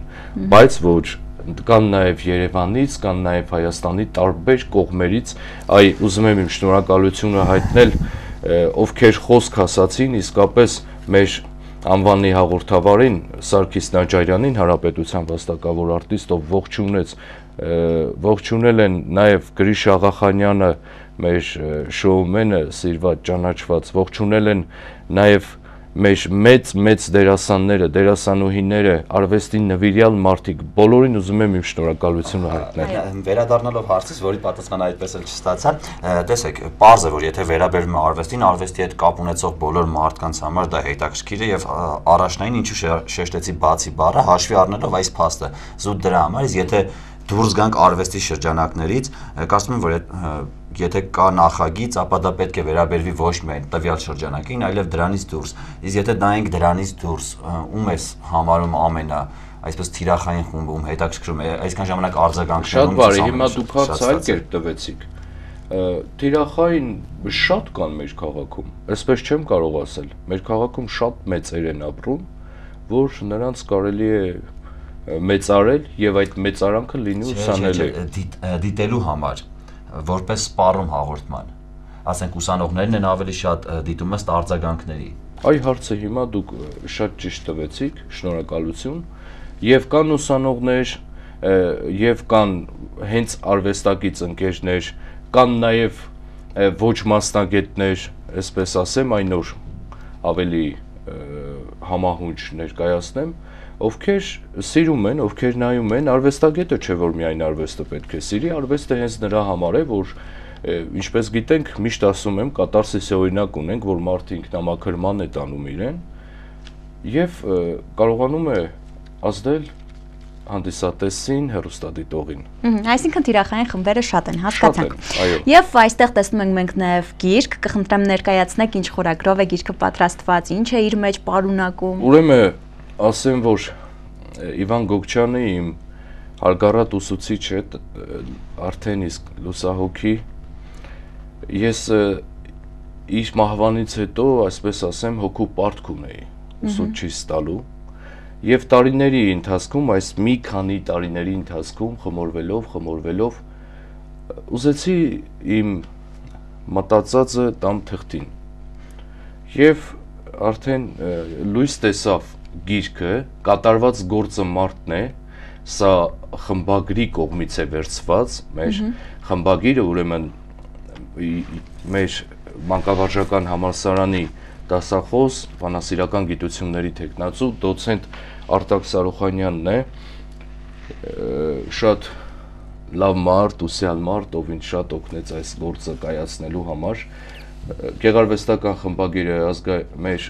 բայց ոչ, կան նաև Երևանից, կան նաև Հայաստանի տարբեր կողմերից, այ ուզում եմ իմ շնորհակալությունը հայտնել, ովքեր խոսք ասացին, իսկապես մեր անվանի հաղորդավարին Սարգիս Նաջարյանին, Հանրապետության վաստակավոր արտիստ, ով ողջունել են նաև Գրիշ Աղախանյանը, մեր շոումենը, սիրված, ճանաչված, ողջունել են նաև մեծ դերասանները, դերասանուհիները, արվեստին նվիրյալ մարդիկ, բոլորին ուզում եմ իմ շնորհակալությունը հայտնել։ Վերադառնալով հարցից, որի պատասխանը այդպես էլ չստացա, տեսեք, պարզ է, որ եթե վերաբերվում է արվեստին, արվեստի հետ կապ ունեցող բոլոր մարդկանց համար դա հետաքրքիր է եւ առաջնային ինչու շեշտեցի բացի բառը, հաշվի առնելով այս փաստը, զուտ դրա համար, իսկ եթե դուրս գանք արվեստի շրջանակներից, կարծում եմ, որ եթե կա նախագիծ, ապա դա պետք է վերաբերվի ոչ միայն տվյալ շրջանակին, այլև դրանից դուրս։ Իսկ եթե նայենք դրանից դուրս, ում է համարում ամենա այսպես թիրախային խումբում հետաքրքրում է, այսքան ժամանակ արձագանքներում։ Շատ բարի, հիմա դուք հարց այլ կերպ տվեցիք։ Թիրախային շատ կան մեր քաղաքում, այսպես չեմ կարող ասել։ Մեր քաղաքում շատ մեծեր են ապրում, որ նրանց կարելի է մեծարել եւ այդ մեծարանքը լինի ուսանելի դիտելու համար, որպես սպառում հաղորդման, ասենք ուսանողներն են ավելի շատ դիտում ըստ արձագանքների։ Այ հարցը հիմա դուք շատ ճիշտ տվեցիք, շնորհակալություն, եւ կան ուսանողներ, եւ կան հենց արվեստագից ընկերներ, կան նաեւ ոչ մասնագետներ, այսպես ասեմ, այն նոր ավելի համահունչ ներկայացնեմ, ովքեր սիրում են, ովքեր նայում են, արվեստագետը չէ, որ միայն արվեստը պետք է սիրի, արվեստը հենց նրա համար է, որ ինչպես գիտենք, միշտ ասում եմ, կատարսիսի օրինակ ունենք, որ մարդը ինքնամաքրման է տանում իրեն եւ կարողանում է ազդել հանդիսատեսին, հեռուստադիտողին։ Այսինքն թիրախային խմբերը շատ են, հասկացանք։ Այո։ Եվ այստեղ տեսնում ենք մենք նաև գիրք, կխնդրեմ ներկայացնեք ինչ խորագրով է գիրքը պատրաստված, ինչ է իր մեջ պարունակում։ Ուրեմն ասեմ, որ Իվան Գոգչյանը իմ հարգառատ ուսուցիչ է, արդեն իսկ լուսահոգի, ես իր մահվանից հետո, այսպես ասեմ, հոգու պարտք ունեի ուսուցչի ստալու եւ տարիների ընթացքում, այս մի քանի տարիների ընթացքում խմորվելով ուզեցի իմ մտածածը տամ թղթին եւ արդեն լույս տեսավ գիրքը, կատարված գործը մարդն է, սա խմբագրի կողմից է վերցված, մեր խմբագիրը ուրեմն մեր մանկավարժական համալսարանի դասախոս, բանասիրական գիտությունների թեկնածու, դոցենտ Արտակ Սարոխանյանն է, շատ լավ մարդ, ուսյալ մարդ, ով ինձ շատ օգնեց այս գործը կայացնելու համար, գեղարվեստական խմբագիրը մեր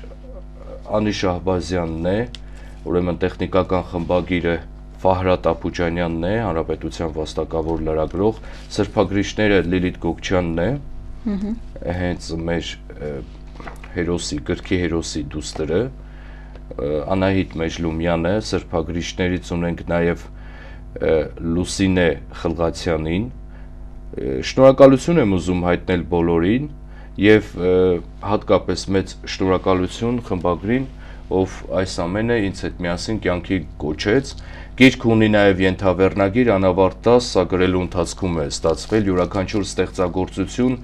Անի Շահբազյանն է, ուրեմն տեխնիկական խմբագիրը Ֆահրատ Ափուջանյանն է, Հանրապետության վաստակավոր լրագրող, սրբագրիչները Լիլիթ Գոգչյանն է, հենց մեր հերոսի, գրքի հերոսի դուստրը, Անահիտ Մեջլումյանը, սրբագրիչներից ունենք նաև Լուսինե Խլղացյանին, շնորհակալություն եմ ուզում հայտնել բոլորին եւ հատկապես մեծ շնորհակալություն խմբագրին, ով այս ամենը ինձ հետ միասին կյանքի կոչեց։ Գիրքը ունի նաև ենթավեռնագիր, անավարտ 10, սա գրելու ընթացքում է ստացվել յուրաքանչյուր ստեղծագործություն,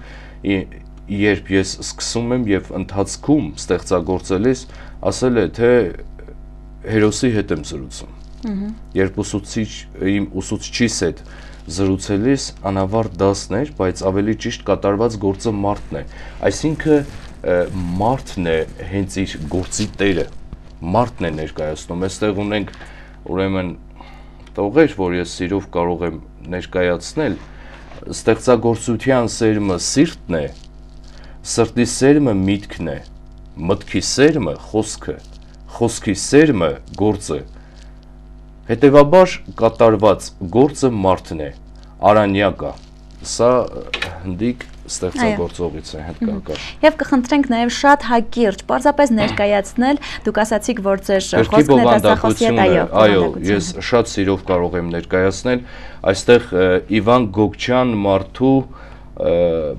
երբ ես սկսում եմ եւ ընթացքում ստեղծագործելիս ասել է, թե հերոսի հետ եմ զրուցում։ Երբ իմ ուսուցչիս հետ զրուցելիս անավարտ 10-ն էր, բայց ավելի ճիշտ կատարված գործը մարդն է։ Այսինքն մարդն է հենց իր գործի տերը, մարդն է ներկայացնում։ Այստեղ ունենք ուրեմն տողեր, որ ես սիրով կարող եմ ներկայացնել, ստեղծագործության սերմը սիրտն է, սրտի սերմը միտքն է, մտքի սերմը խոսքը, խոսքի սերմը գործը, հետևաբար կատարված գործը մարդն է, արանյակա, սա հնդիկ ստեղծագործողից է հնդկական։ Եվ կխնդրենք նաև շատ հակիրճ, պարզապես ներկայացնել, դուք ասացիք, որ ձեր խոսքն է դասախոսի հետ, այո, ես շատ սիրով կարող եմ ներկայացնել, այստեղ Իվան Գոգչյան մարդու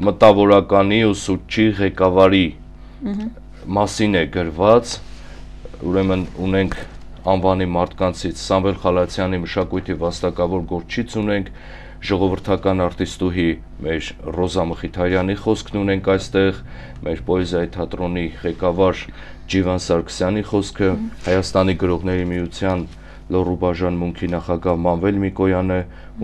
մտավորականի ուսուցչի ղեկավարի մասին է գրված, ուրեմն ունենք անվանի մարդկանցից Սամվել Խալացյանի մշակույթի վաստակավոր գործիչ ունենք, ժողովրդական արտիստուհի մեր Ռոզա Մխիթարյանի խոսքն ունենք այստեղ, մեր պոեզիայի թատրոնի ղեկավար Ջիվան Սարգսյանի խոսքը, Հայաստանի գրողների միության Լոռու բաժան մունքի նախագահ Մանվել Միկոյանը,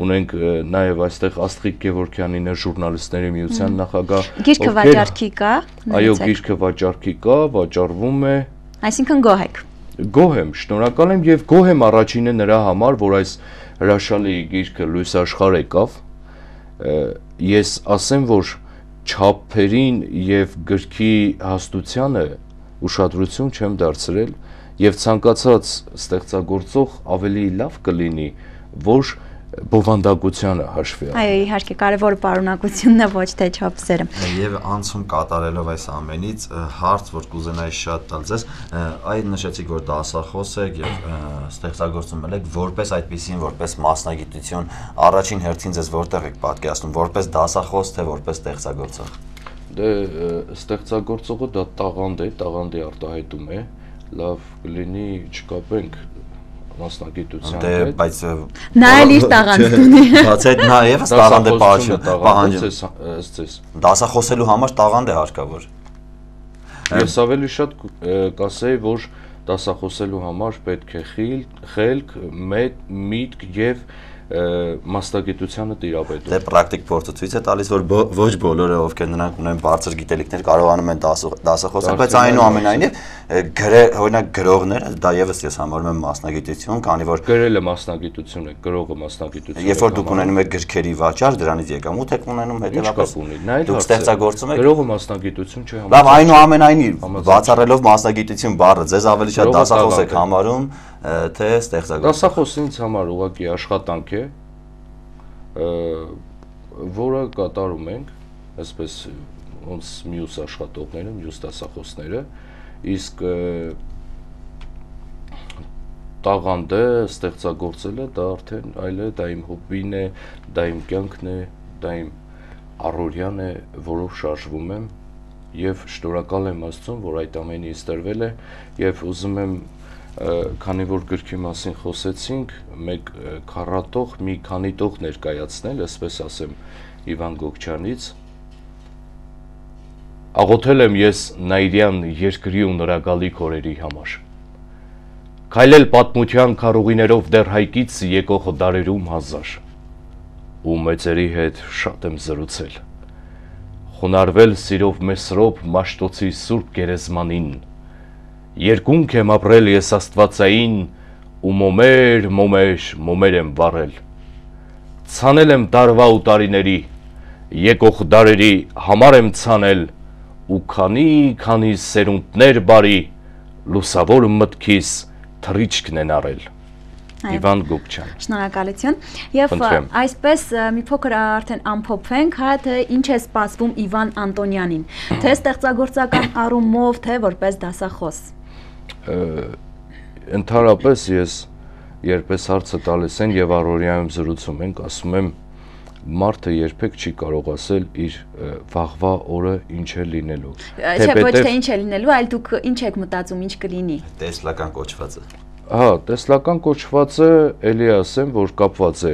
ունենք նաև այստեղ Աստղիկ Գևորգյանին ժուրնալիստների միության նախագահ։ Գիրքը վաճառքի կա։ Այո, գիրքը վաճառքի կա, վաճառվում է, Այսինքն գոհ եք։ Գոհ եմ, շնորհակալ եմ եւ գոհ եմ առաջինը նրա համար, որ այս հրաշալի գիրքը լույս աշխարհ եկավ։ Ես ասեմ, որ չափերին եւ գրքի հաստությանը ուշադրություն չեմ դարձրել եւ ցանկացած ստեղծագործող ավելի լավ կլինի, որ բովանդակությանը հաշվի առնի։ Այո, իհարկե, կարևորը պարունակությունն է, ոչ թե չափսերը։ Եվ անցում կատարելով այս ամենից հարց, որ կուզենայի շատ տալ ձեզ, այդ նշեցիք, որ դասախոս եք եւ ստեղծագործում եք որպես այդպեսին, որպես մասնագիտություն, առաջին հերթին ձեզ որտեղ եք պատկերացնում, որպես դասախոս թե որպես ստեղծագործող։ Դե ստեղծագործողը դա տաղանդ է, տաղանդի արտահայտում է, լավ կլինի չկապենք մասնագիտության հետ։ Բայց նա էլ իր տաղանդն ունի։ Բաց այդ նա եւս տաղանդ է պահանջում։ Դասախոսելու համար տաղանդ է հարկավոր։ Ես ավելի շատ կասեի, որ դասախոսելու համար պետք է խելք, միտք եւ մասնագիտությանը տիրապետում։ Դե պրակտիկ փորձը ցույց է տալիս, որ ոչ բոլորը, ովքեր նրանք ունեն բարձր գիտելիքներ, կարողանում են դասախոսել, բայց այնուամենայնիվ օրինակ գրողները, դա եւս ես համարում եմ մասնագիտություն, քանի որ գրելը մասնագիտություն է, գրողը մասնագիտություն է։ Երբ որ դուք ունենում եք գրքերի վաճառ, դրանից եկամուտ եք ունենում, հետեւաբար դուք ստեղծագործում եք։ Գրողը մասնագիտություն չէ համարում։ Լավ, այնուամենայնիվ, բացառելով մասնագիտություն բառը, ձեզ ավելի շատ դասախոս եք համարում, թե ստեղծագործ։ Դասախոսը ինձ համար ուղղակի աշխատանք է, որը կատարում ենք, այսպես ոնց մյուս աշխատողները, մյուս դասախոսները, իսկ տաղանդը ստեղծագործելը դա արդեն այլ է, դա իմ հոբբին է, դա իմ կյանքն է, դա իմ առօրյան է, որով շարժվում եմ եւ շնորհակալ եմ Աստծուն, որ այդ ամենը ինձ տրվել է եւ ուզում եմ քանի որ գրքի մասին խոսեցինք, մեկ քառատող, մի քանի տող ներկայացնել, այսպես ասեմ, Իվան Գոկչյանից։ Աղոթել եմ ես Նայիրյան երկրի ու նրա գալիք օրերի համար։ Քայլել պատմության քարուղիներով դեռ հայկից եկող դարերում հազար։ Ու մեծերի հետ շատ եմ զրուցել։ Խոնարհվել սիրով մեսրոպ Մաշտոցի Սուրբ Գերեզմանին։ Երկունք եմ ապրել ես Աստվածային ու մոմեր եմ վառել։ Ցանել եմ տարվա ու տարիների, եկող դարերի համար եմ ցանել ու քանի սերունդներ բարի, լուսավոր մտքիս թռիչքն են առել։ Իվան Գոկչյան։ Շնորհակալություն։ Եվ այսպես մի փոքր արդեն ամփոփենք, հա, թե ինչ է սպասվում Իվան Անտոնյանին, թե ստեղծագործական առումով, թե որպես դասախոս։ Ընդհանրապես ես երբես հարցը տալիս են եւ առօրյայում զրուցում ենք, ասում եմ մարդը երբեք չի կարող ասել իր վաղվա օրը ինչ է լինելու։ Չէ, ոչ թե ինչ է լինելու, այլ դուք ինչ եք մտածում, ինչ կլինի։ Տեսլական կոչվածը։ Հա, տեսլական կոչվածը էլի ասեմ, որ կապված է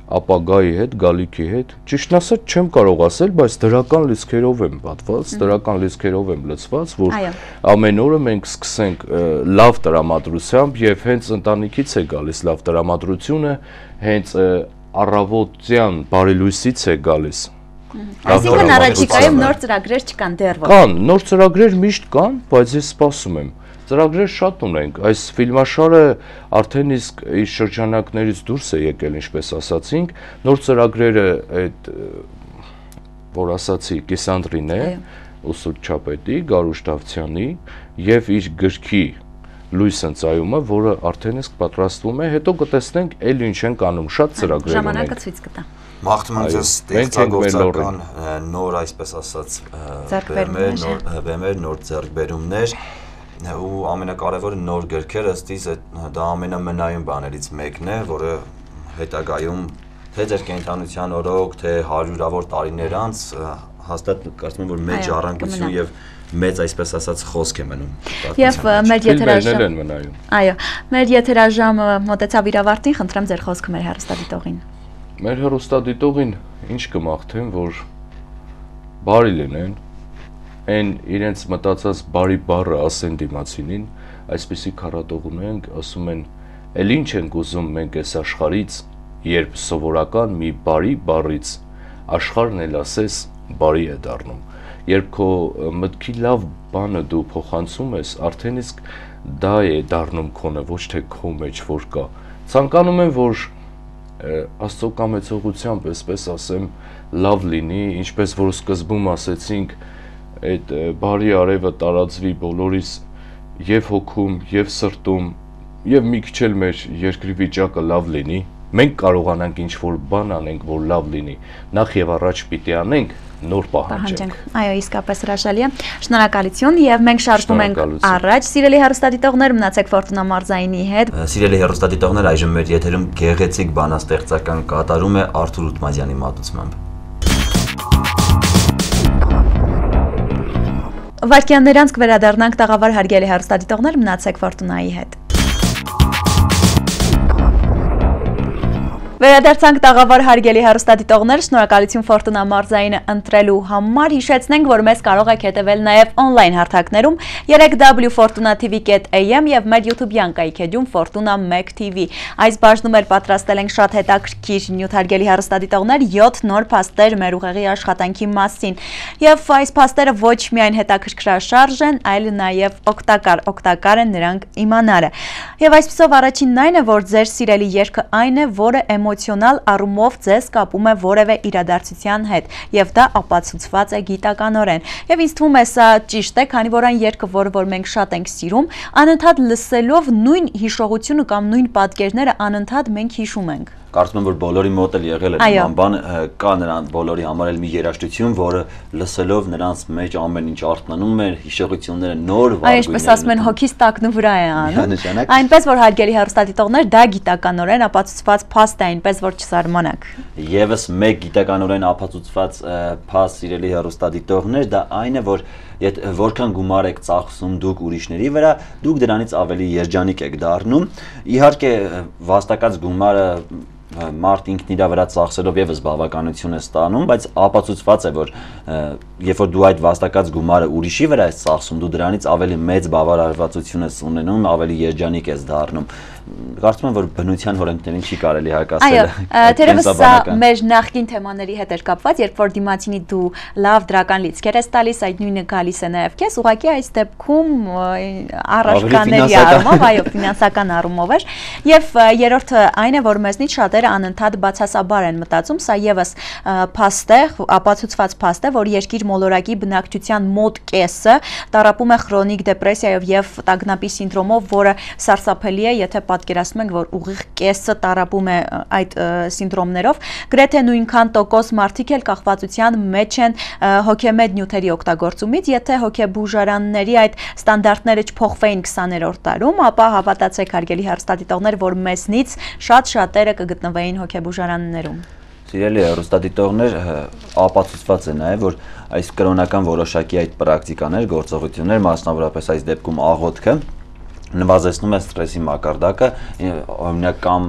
ապագայի հետ, գալիքի հետ։ Ճիշտն ասած չեմ կարող ասել, բայց դրական լիցքերով եմ պատված, դրական լիցքերով եմ լցված, որ ամեն օրը մենք սկսենք լավ տրամադրությամբ եւ հենց ընտանիքից է գալիս լավ տրամադրությունը, հենց առավոտյան բարելույսից է գալիս։ Այսինքն առաջիկայում նոր ծրագրեր չկան դեռ ոչ։ Կան, նոր ծրագրեր միշտ կան, բայց ես սպասում եմ։ Ծրագրեր շատ ունենք, այս ֆիլմաշարը արդեն իսկ իր շրջանակներից դուրս է եկել, ինչպես ասացինք, նոր ծրագրերը այդ որ ասացի Կիսանդրին է, Ուսուր Չապետի, Գարուշ Դավթյանի եւ իր գրքի Լույս ընծայումը, որը արդեն իսկ պատրաստվում է, հետո կտեսնենք էլ ինչ են անում, շատ ծրագրեր ունենք։ Ժամանակը ցույց կտա։ Մաղթում եմ ձեզ ստեղծագործական նոր, այսպես ասած, բեմեր, նոր ձեռքբերումներ ու ամենակարևորը նոր գրքեր, ըստ իս դա ամենամնայուն բաներից մեկն է, որը հետագայում թե ձեր կենդանության օրոք, թե հարյուրավոր տարիներ անց հաստատ կարծում եմ, որ մեծ ժառանգություն եւ մեծ այսպես ասած խոսք է մնում։ Եվ մեր եթերաժամը, այո, մեր եթերաժամը մոտեցավ իր ավարտին, խնդրեմ ձեր խոսքը մեր հեռուստադիտողին։ Մեր հեռուստադիտողին ինչ կմաղթեմ, որ բարի լինեն, այն իրենց մտածած բարի բառը ասեն դիմացինին, այսպեսի քառատող ունենք, ասում են, «Էլ ինչ ենք ուզում մենք այս աշխարից, երբ սովորական մի բարի բառից աշխարհն էլ ասես բարի է դառնում»։ երբ քո մտքի լավ բանը դու փոխանցում ես, արդեն իսկ դա է դառնում քոնը, ոչ թե քո մեջ որ կա։ Ցանկանում եմ, որ Աստծո կամեցողությամբ, այսպես ասեմ, լավ լինի, ինչպես որ սկզբում ասեցինք, այդ բարի արևը տարածվի բոլորիս եւ հոգում, եւ սրտում, եւ մի քիչ էլ մեր երկրի վիճակը լավ լինի։ Մենք կարողանանք ինչ-որ բան անենք, որ լավ լինի։ Նախ եւ առաջ պիտի անենք, նոր պահանջենք։ Այո, իսկապես հրաշալի է։ Շնորհակալություն եւ մենք շարժվում ենք առաջ։ Սիրելի հեռուստադիտողներ, մնացեք Ֆորտունա մարզայինի հետ։ Սիրելի հեռուստադիտողներ, այժմ մեր եթերում գեղեցիկ բանաստեղծական կատարում է Արթուր Ուտմազյանի մատուցմամբ։ Վայրկյաններ անց կվերադառնանք տաղավար հարգելի հեռուստադիտողներ, մնացեք Ֆորտունայի հետ։ Վերադարձանք տաղավար հարգելի հեռուստադիտողներ, շնորհակալություն Ֆորտունա մարզայինը ընտրելու համար, հիշեցնենք, որ մեզ կարող եք հետևել նաև օնլայն հարթակներում 3w.fortuna.tv.am եւ մեր YouTube-յան կայքեջում Fortuna 1 TV։ Այս բաժնում էլ պատրաստել ենք շատ հետաքրքիր նյութ հարգելի հեռուստադիտողներ, 7 նոր փաստեր մեր ուղեղի աշխատանքի մասին։ Եվ այս փաստերը ոչ միայն հետաքրքրաշարժ են, այլ նաև օգտակար են նրանք իմանալը։ Եվ այսպիսով առաջինն այն է, որ ձեր սիրելի երգը այն է, որը էմոցիոնալ առումով ձեզ կապում է որևէ իրադարձության հետ, եւ դա ապացուցված է գիտականորեն։ Եվ ինձ թվում է սա ճիշտ է, քանի որ այն երգը, որը մենք շատ ենք սիրում, անընդհատ լսելով նույն հիշողությունը կամ նույն պատկերները անընդհատ մենք հիշում ենք։ Կարծում եմ, որ բոլորի մոտ էլ եղել է նման բան, կա նրան բոլորի համար էլ մի երաժշտություն, որը լսելով նրանց մեջ ամեն ինչ արթնանում է, հիշողությունները նոր վարագույրներ։ Այսպես ասում են, հոգիս տակն ու վրա է անում։ Այնպես որ հարգելի հեռուստադիտողներ, դա գիտականորեն ապացուցված փաստ է, այնպես որ չզարմանաք։ Եվս մեկ գիտականորեն ապացուցված փաստ, սիրելի հեռուստադիտողներ, դա այն է, որ որքան գումար եք ծախսում դուք ուրիշների վրա, դուք դրանից ավելի երջանիկ եք դառնում։ Իհարկե, վաստակած գումարը մարդ ինքն իր վրա ծախսելով եւս բավականություն է ստանում, բայց ապացուցված է, որ երբ որ դու այդ վաստակած գումարը ուրիշի վրա ես ծախսում, դու դրանից ավելի մեծ բավարարվածություն ես ունենում, ավելի երջանիկ ես դառնում։ Կարծում եմ, որ բնության օրենքներին չի կարելի հակասել։ Այո, թերևս սա մեր նախկին թեմաների հետ էր կապված, երբ որ դիմացինի դու լավ դրական լիցքեր ես տալիս, այդ նույնը գալիս է նաև քեզ, ուղղակի այս դեպքում առարկաների առումով, այո, ֆինանսական առումով էր։ Եվ երրորդը այն է, որ մեզնից շատերը անընդհատ բացասաբար են մտածում, սա եւս փաստ է, ապացուցված փաստ է, որ երկիր մոլորակի բնակչության մոտ կեսը տառապում է քրոնիկ դեպրեսիայով եւ տագնապի սինդրոմով, որը սարսափելի է, եթե պատկերացնում ենք, որ ուղիղ կեսը տառապում է այդ սինդրոմներով, գրեթե նույնքան տոկոս մարդիկ էլ կախվածության մեջ են հոգեմետ նյութերի օգտագործումից, եթե հոգեբուժարանների այդ ստանդարտները չփոխվեին 20-րդ դարում, ապա հավատացեք հարգելի հեռուստադիտողներ, որ մեզնից շատերը կգտնվեին հոգեբուժարաններում։ Սիրելի հեռուստադիտողներ, ապացուցված է նաև, որ այս կրոնական որոշակի այդ պրակտիկաներ, գործողություններ, մասնավորապես այս դեպքում աղոթքը նվազեցնում է ստրեսի մակարդակը, օրինակ կամ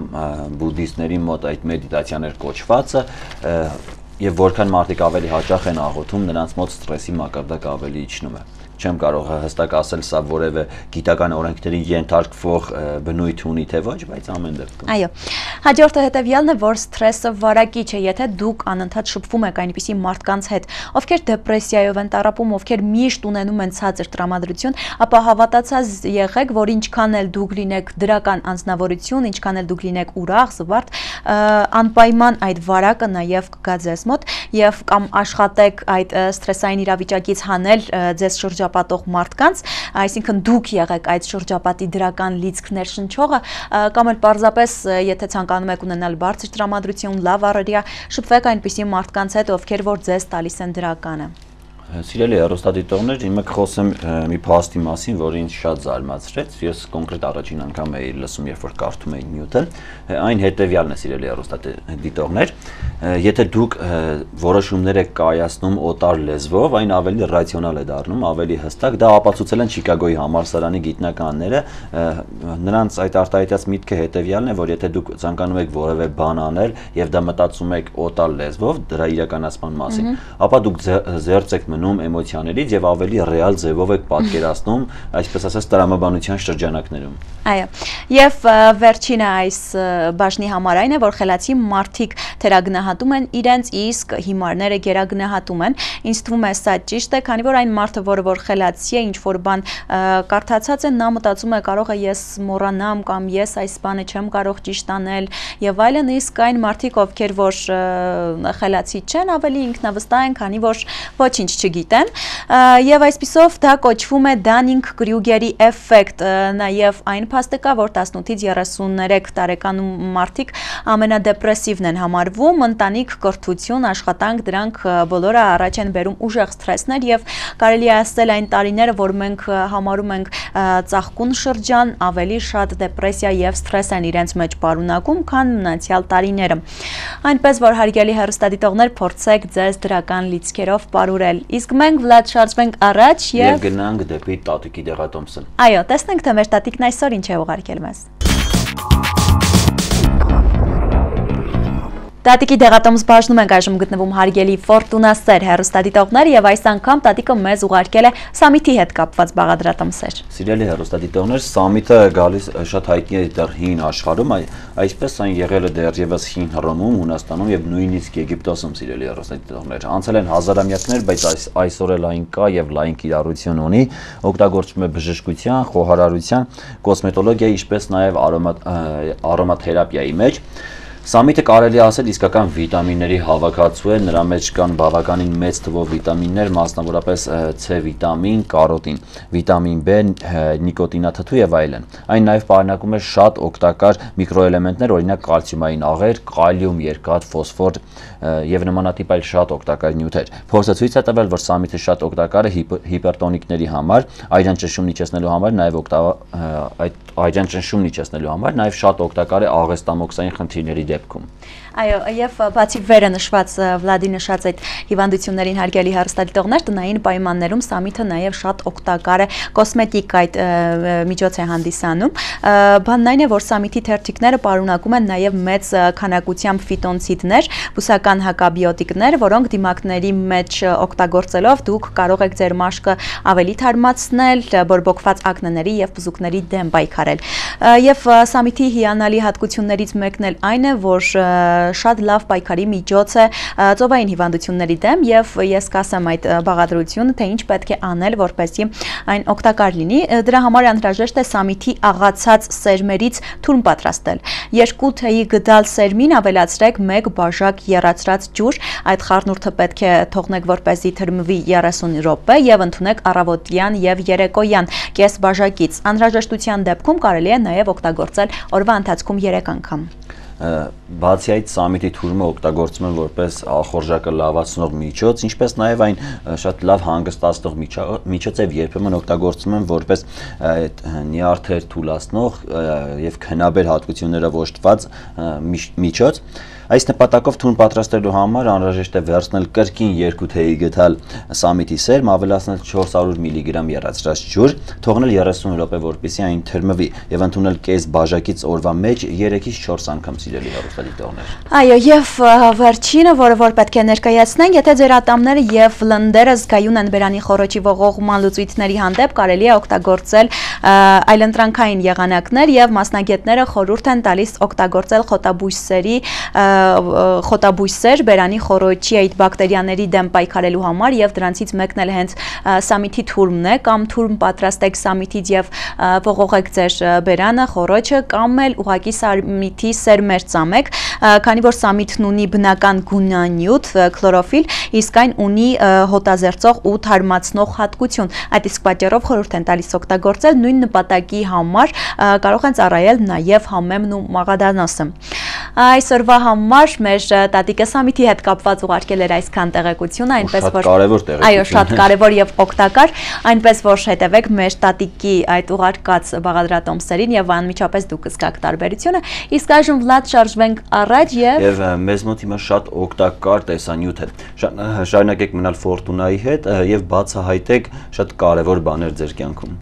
բուդդիստների մոտ այդ մեդիտացիաներ կոչվածը, եւ որքան մարդիկ ավելի հաճախ են աղոթում, նրանց մոտ ստրեսի մակարդակը ավելի իջնում է։ Չեմ կարող հստակ ասել սա որևէ գիտական օրենքների ենթարկվող բնույթ ունի թե ոչ, բայց ամեն դեպքում։ Այո։ Հաջորդը հետևյալն է, որ սթրեսը վարակիչ է, եթե դուք անընդհատ շփվում եք այնպիսի մարդկանց հետ, ովքեր դեպրեսիայով են տառապում, ովքեր միշտ ունենում են ցածր տրամադրություն, ապա հավատացած եղեք, որ ինչքան էլ դուք լինեք դրական անձնավորություն, ինչքան էլ դուք լինեք ուրախ, զվարթ, անպայման այդ վարակը նաև կգա ձեզ մոտ եւ կամ աշխատեք այդ սթրեսային իրավիճակից հանել ձեզ շրջապատող մարդկանց, այսինքն դուք եղեք այդ շրջապատի դրական լիցքներ շնչողը, կամ էլ պարզապես եթե ցանկանում եք ունենալ բարձր տրամադրություն, լավ առօրյա, շփվեք այնպիսի մարդկանց հետ, ովքեր որ ձեզ տալիս են դրականը։ Սիրելի հեռուստադիտողներ, հիմա կխոսեմ մի փաստի մասին, որը ինձ շատ զարմացրեց։ Ես կոնկրետ առաջին անգամ էի լսում, երբ որ կարդում էի նյութը, այն հետևյալն է, սիրելի հեռուստադիտողներ, եթե դուք որոշումներ եք կայացնում օտար լեզվով, այն ավելի ռացիոնալ է դառնում, ավելի հստակ, դա ապացուցել են Չիկագոյի համալսարանի գիտնականները, նրանց այդ արտահայտած միտքը հետևյալն է, որ եթե դուք ցանկանում եք որևէ բան անել եւ դա մտածում եք օտար լեզվով, դրա իրականացման մասին, ապա դուք զերծ եք մնում էմոցիաներից եւ ավելի ռեալ ձևով եք պատկերացնում, այսպես ասած, տրամաբանության շրջանակներում։ Այո, եւ վերջինը այս բաժնի համար այն է, որ խելացի մարդիկ թերագնահատում են իրենց, իսկ հիմարները գերագնահատում են։ Ինձ թվում է սա ճիշտ է, քանի որ այն մարդը, որ խելացի է, ինչ որ բան կարդացած է, նա մտածում է կարող է ես մոռանամ կամ ես այս բանը չեմ կարող ճիշտ անել եւ այլն, իսկ այն մարդիկ, ովքեր որ խելացի չեն, ավելի ինքնավստահ են, քանի որ ոչինչ չգիտեն, եւ այսպիսով դա կոչվում է Դանինգ-Կրյուգերի էֆեկտ, նաեւ այն փաստը կա, որ 18-ից 33 տարեկանում մարդիկ ամենադեպրեսիվն են համարվում, ընտանիք, կրթություն, աշխատանք, դրանք բոլորը առաջ են բերում ուժեղ սթրեսներ եւ կարելի է ասել այն տարիները, որ մենք համարում ենք ծաղկուն շրջան, ավելի շատ դեպրեսիա եւ սթրես են իրենց մեջ պարունակում, քան մնացյալ տարիները։ Այնպես որ հարգելի հեռուստադիտողներ, փորձեք ձեզ դրական լիցքերով պարուրել։ Իսկ մենք Վլադ շարժվենք առաջ եւ գնանք դեպի տատիկի դեղատոմսը։ Այո, տեսնենք թե մեր տատիկն այսօր ինչ է ուղարկել մեզ։ Տատիկի դեղատոմս բաժնում ենք այժմ գտնվում հարգելի ֆորտունասեր հեռուստադիտողներ եւ այս անգամ տատիկը մեզ ուղարկել է Սամիթի հետ կապված բաղադրատոմսեր։ Սիրելի հեռուստադիտողներ, Սամիթը գալիս շատ հայտնի է դեռ հին աշխարհում, այսպես այն եղել է դեռևս հին Հռոմում, Հունաստանում եւ նույնիսկ Եգիպտոսում, սիրելի հեռուստադիտողներ։ Անցել են հազարամյակներ, բայց այսօր էլ այն կա եւ լայն կիրառություն ունի, օգտագործվում է բժշկության, խոհարարության, կոսմետոլոգիայի, ինչպես նաեւ արոմաթերապիայի մեջ։ Սամիթը կարելի ասել իսկական վիտամինների հավաքածու է, նրա մեջ կան բավականին մեծ թվով վիտամիններ, մասնավորապես C վիտամին, կարոտին, վիտամին B, նիկոտինաթթու եւ այլն։ Այն նաեւ պարունակում է շատ օգտակար միկրոէլեմենտներ, օրինակ կալցիումային աղեր, կալիում, երկաթ, ֆոսֆոր եւ նմանատիպ այլ շատ օգտակար նյութեր։ Փորձը ցույց է տվել, որ Սամիթը շատ օգտակար է հիպերտոնիկների համար, այրան ճնշումն իջեցնելու համար, նաեւ այրան ճնշումն իջեցնելու համար, նաեւ շատ օգտակար է աղեստամոքսային խնդիրների դեպքում։ Այո, եւ բացի վերը նշված Վլադի նշած այդ հիվանդություններին հարգելի հեռուստադիտողներ, տնային պայմաններում Սամիթը նաեւ շատ օգտակար է կոսմետիկ այդ միջոց է հանդիսանում։ Բանն այն է, որ Սամիթի թերթիկները պարունակում են նաեւ մեծ քանակությամբ ֆիտոնցիդներ, բուսական հակաբիոտիկներ, որոնք դիմակների մեջ օգտագործելով դուք կարող եք ձեր մաշկը ավելի թարմացնել, բորբոքված ակնեների եւ բզուկների դեմ պայքարել։ Եվ Սամիթի հիանալի հատկություններից մեկն էլ այն է, որ շատ լավ պայքարի միջոց է ծովային հիվանդությունների դեմ եւ ես կասեմ այդ բաղադրությունը, թե ինչ պետք է անել, որպեսզի այն օգտակար լինի։ Դրա համար անհրաժեշտ է Սամիթի աղացած սերմերից թուրմ պատրաստել։ 2 թեյի գդալ սերմին ավելացրեք 1 բաժակ եռացրած ջուր, այդ խառնուրդը պետք է թողնեք, որպեսզի թրմվի 30 րոպե եւ ընդունեք առավոտյան եւ երեկոյան կես բաժակից։ Անհրաժեշտության դեպքում կարելի է նաեւ օգտագործել օրվա ընթացքում 3 անգամ։ Բացի այդ Սամիթի թուրմը օգտագործում են որպես ախորժակը լավացնող միջոց, ինչպես նաև այն շատ լավ հանգստացնող միջոց եւ երբեմն օգտագործում են որպես նյարդեր թուլացնող եւ քնաբեր հատկություններով օժտված միջոց։ Այս նպատակով թուրմ պատրաստելու համար անհրաժեշտ է վերցնել կրկին 2 թեյի գդալ Սամիթի սերմ, ավելացնել 400 մգ եռացրած ջուր, թողնել 30 րոպե, որպեսզի այն թրմվի եւ ընդունել կես բաժակից օրվա մեջ 3-ից 4 անգամ, սիրելի հեռուստադիտողներ։ Այո, եւ վերջինը, որ պետք է ներկայացնենք, եթե ձեր ատամները եւ լնդերը զգայուն են բերանի խորոչի ողողման լուծույթների հանդեպ, կարելի է օգտագործել այլընտրանքային եղանակներ եւ մասնագետները խորհուրդ են տալիս օգտագործել խոտաբույսեր բերանի խորոչի այդ բակտերիաների դեմ պայքարելու համար եւ դրանցից մեկն էլ հենց Սամիթի թուրմն է, կամ թուրմ պատրաստեք Սամիթից եւ ողողեք ձեր բերանը, խորոչը, կամ էլ ուղակի Սամիթի սերմեր ծամեք, քանի որ Սամիթն ունի բնական գունանյութ, քլորոֆիլ, իսկ այն ունի հոտազերծող ու թարմացնող հատկություն։ Այդ իսկ պատճառով խորհուրդ են տալիս օգտագործել, նույն նպատակի համար կարող են ծառայել նաեւ համեմն ու մաղադանոսը։ Այսօրվա համար մեր տատիկը Սամիթի հետ կապված ուղարկել էր այսքան տեղեկություն, այնպես որ կարևոր տեղեկություն։ Այո, շատ կարևոր եւ օգտակար, այնպես որ հետևեք մեր տատիկի այդ ուղարկած բաղադրատոմսերին եւ անմիջապես դուք կզգաք տարբերությունը։ Իսկ այժմ Վլադ շարժվենք առաջ եւ մեզ մոտ հիմա շատ օգտակար տեսանյութ է։ Շարունակեք մնալ Ֆորտունայի հետ եւ բացահայտեք շատ կարևոր բաներ ձեր կյանքում։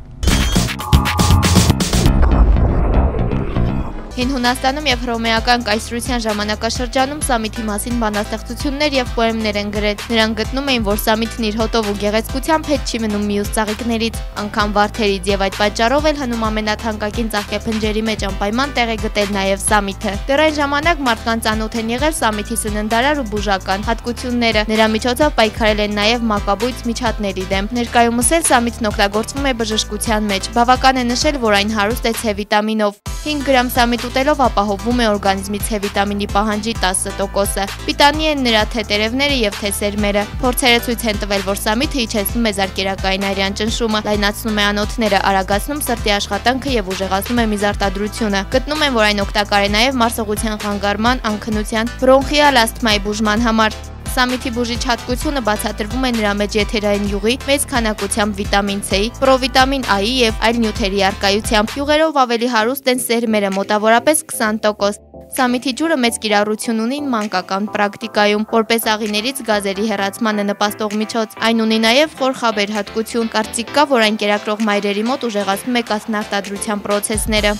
Հին Հունաստանում եւ հռոմեական կայսրության ժամանակաշրջանում սամիթի մասին բանաստեղծություններ եւ պոեմներ են գրել։ Նրանք գտնում էին, որ սամիթն իր հոտով ու գեղեցկությամբ հետ չի մնում մյուս ծաղիկներից, անգամ վարդերից, եւ այդ պատճառով էլ հնում ամենաթանկագին ծաղկեփնջերի մեջ անպայման տեղ է գտել նաեւ սամիթը։ Դեռ այն ժամանակ մարդկանց ծանոթ են եղել սամիթի սննդարար ու բուժական հատկությունները։ Նրա միջոցով պայքարել են նաեւ մակաբույծ միջատների դեմ։ Ներկայումս էլ սամիթն օգտագործվում է բժշկության մեջ։ Բավական է նշել, որ այն հարուստ է C վիտամինով։ 5 գրամ սամիթ ուտելով ապահովում է օրգանիզմի C վիտամինի պահանջի 10%-ը։ Պիտանի են նրա թե տերևները եւ թե սերմերը։ Փորձերը ցույց են տվել, որ սամիթը իջեցնում է զարկերակային արյան ճնշումը, լայնացնում է անոթները, արագացնում սրտի աշխատանքը եւ ուժեղացնում է միզարտադրությունը։ Գտնում են, որ այն օգտակար է նաեւ մարսողության խանգարման, անքնության, բրոնխիալ ասթմայի բուժման համար։ Սամիթի բուժիչ հատկությունը բացատրվում է նրա մեջ եթերային յուղի մեծ քանակությամբ վիտամին C-ի, պրովիտամին A-ի եւ այլ նյութերի առկայությամբ։ Յուղերով ավելի հարուստ են սերմերը, մոտավորապես 20%։ Սամիթի ջուրը մեծ կիրառություն ունի մանկական պրակտիկայում, որպես աղիներից գազերի հեռացմանը նպաստող միջոց։ Այն ունի նաև խոր խաբեր հատկություն, կարծիք կա, որ այն կերակրող մայրերի մոտ ուժեղացնում է կաթնարտադրության պրոցեսները։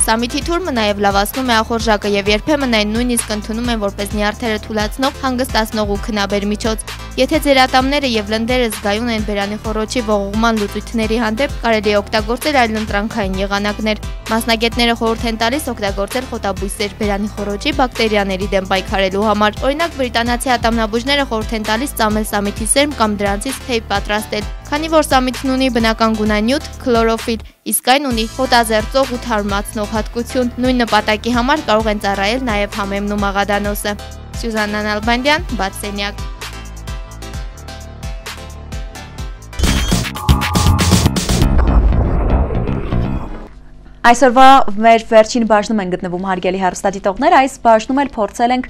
Սամիթի թուրմը նաև լավացնում է ախորժակը եւ երբեմն այն նույնիսկ ընդունում են որպես նյարդերը թուլացնող, հանգստացնող ու քնաբեր միջոց։ Եթե ձեր ատամները եւ լնդերը զգայուն են բերանի խոռոչի ողողման լուծույթների հանդեպ, կարելի է օգտագործել այլընտրանքային եղանակներ։ Մասնագետները խորհուրդ են տալիս օգտագործել խոտաբույսեր բերանի խոռոչի բակտերիաների դեմ պայքարելու համար։ Օրինակ, բրիտանացի ատամնաբույժները խորհուրդ են տալիս ծամել սամիթի սերմ կամ դրանցից թեյ պատրաստել։ Քանի որ սամիթն ունի բնական գունանյութ քլորոֆիլ, իսկ այն ունի հոտազերծող ու թարմացնող հատկություն, նույն նպատակի համար կարող են ծառայել նաև համեմն ու մաղադանոսը։ Սյուզաննա Նալբանդյան, Բացենյակ։ Այսօրվա մեր վերջին բաժնում են գտնվում հարգելի հեռուստադիտողներ, այս բաժնում էլ փորձել ենք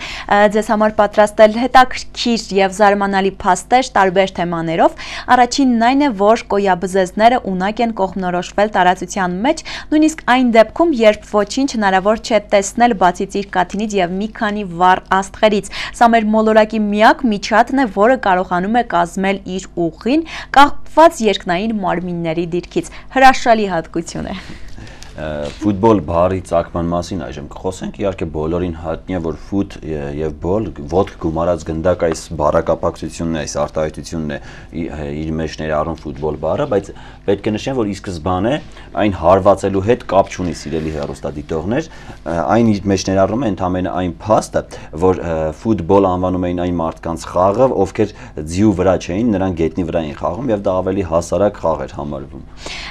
ձեզ համար պատրաստել հետաքրքիր եւ զարմանալի փաստեր տարբեր թեմաներով։ Առաջինն այն է, որ կոյաբզեզները ունակ են կողմնորոշվել տարածության մեջ, նույնիսկ այն դեպքում, երբ ոչինչ հնարավոր չէ տեսնել բացի ծիրկաթինից եւ մի քանի վառ աստղերից։ Սա մեր մոլորակի միակ միջատն է, որը կարողանում է կազմել իր ուղին կախված երկնային մարմինների դիրքից։ Հրաշալի հատկություն է։ Ֆուտբոլ բառի ծագման մասին այժմ կխոսենք, իհարկե բոլորին հայտնի է, որ ֆուտ եւ բոլ ոտք գումարած գնդակ այս բառակապակցությունն է, այս արտահայտությունն է իր մեջ ներառում ֆուտբոլ բառը, բայց պետք է նշեմ, որ ի սկզբանե այն հարվածելու հետ կապ չունի, սիրելի հեռուստադիտողներ, այն իր մեջ ներառում է ընդամենը այն փաստը, որ ֆուտբոլ անվանում էին այն մարդկանց խաղը, ովքեր ձիու վրա չէին, նրանք գետնի վրա էին խաղում եւ դա ավելի հասարակ խաղ էր համարվում։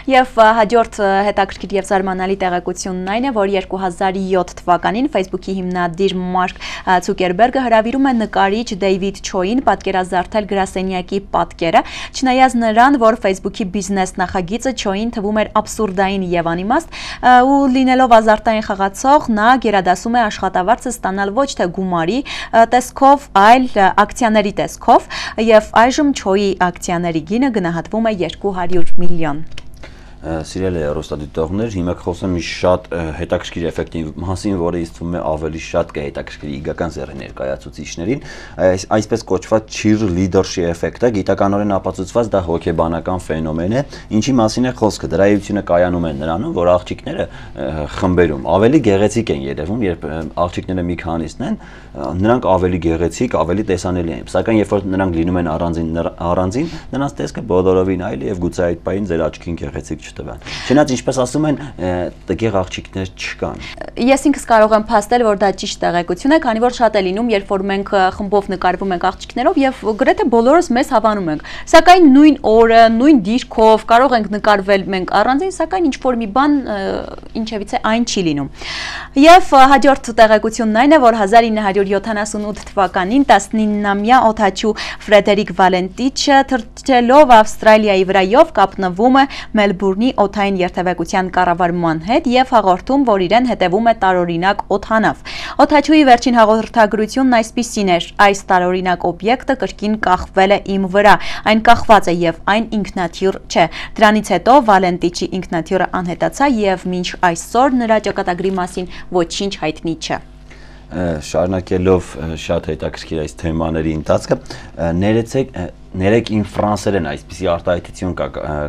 Եվ հաջորդ հետաքրքիր եւ զարմանալի տեղեկությունն այն է, որ 2007 թվականին Facebook-ի հիմնադիր Մարկ Ցուկերբերգը հրավիրում է նկարիչ Դեյվիդ Չոին պատկերազարդել գրասենյակի պատկերը, չնայած նրան, որ Facebook-ի բիզնես նախագիծը Չոին թվում էր աբսուրդային եւ անիմաստ, ու լինելով ազարտային խաղացող, նա գերադասում է աշխատավարձը ստանալ ոչ թե գումարի տեսքով, այլ ակցիաների տեսքով, եւ այժմ Չոյի ակցիաների գինը գնահատվում է 200 միլիոն։ Սիրելի հեռուստադիտողներ, հիմա կխոսեմ մի շատ հետաքրքիր էֆեկտի մասին, որը ինձ թվում է ավելի շատ կհետաքրքրի իգական ձեռի ներկայացուցիչներին, այսպես կոչված cheerleadership էֆեկտը, գիտականորեն ապացուցված դա հոգեբանական ֆենոմեն է, ինչի մասին է խոսքը։ Դրա էությունը կայանում է նրանում, որ աղջիկները խմբերում ավելի գեղեցիկ են երևում, երբ աղջիկները մի քանիսն են, նրանք ավելի գեղեցիկ, ավելի տեսանելի են, սակայն երբ որ նրանք լինում են առանձին, նրանց տեսքը բոլորովին այլ է եւ գուցե այդ պահին ձեր աչքին գեղեցիկ չտվան։ Չնայած ինչպես ասում են, տգեղ աղջիկներ չկան։ Ես ինքս կարող եմ փաստել, որ դա ճիշտ տեղեկություն է, քանի որ շատ է լինում, երբ որ մենք խմբով նկարվում ենք աղջիկներով եւ գրեթե բոլորս մեզ հավանում ենք։ Սակայն նույն օրը, նույն դիրքով կարող ենք նկարվել մենք առանձին, սակայն ինչ որ մի բան ինչևիցե այն չի լինում։ Եվ հաջորդ տեղեկությունն այն է, որ 1978 թվականին 19-ամյա օդաչու Ֆրեդերիկ Վալենտիչը թռչելով Ավստրալիայի վրայով կապնվում է Մելբուրնի օդային երթևեկության կառավարման հետ եւ հաղորդում, որ իրեն հետևում է տարօրինակ օդանավ։ Օդաչուի վերջին հաղորդագրությունն այսպիսին էր. այս տարօրինակ օբյեկտը կրկին կախվել է իմ վրա, այն կախված է եւ այն ինքնաթիռ չէ։ Դրանից հետո Վալենտիչի ինքնաթիռը անհետացա եւ մինչ այսօր նրա ճակատագրի մասին ոչինչ հայտնի չէ։ Շարունակելով շատ հետաքրքիր այս թեմաների ընթացքը, ներեցեք Ներեք իմ ֆրանսերեն այսպիսի արտահայտություն կա,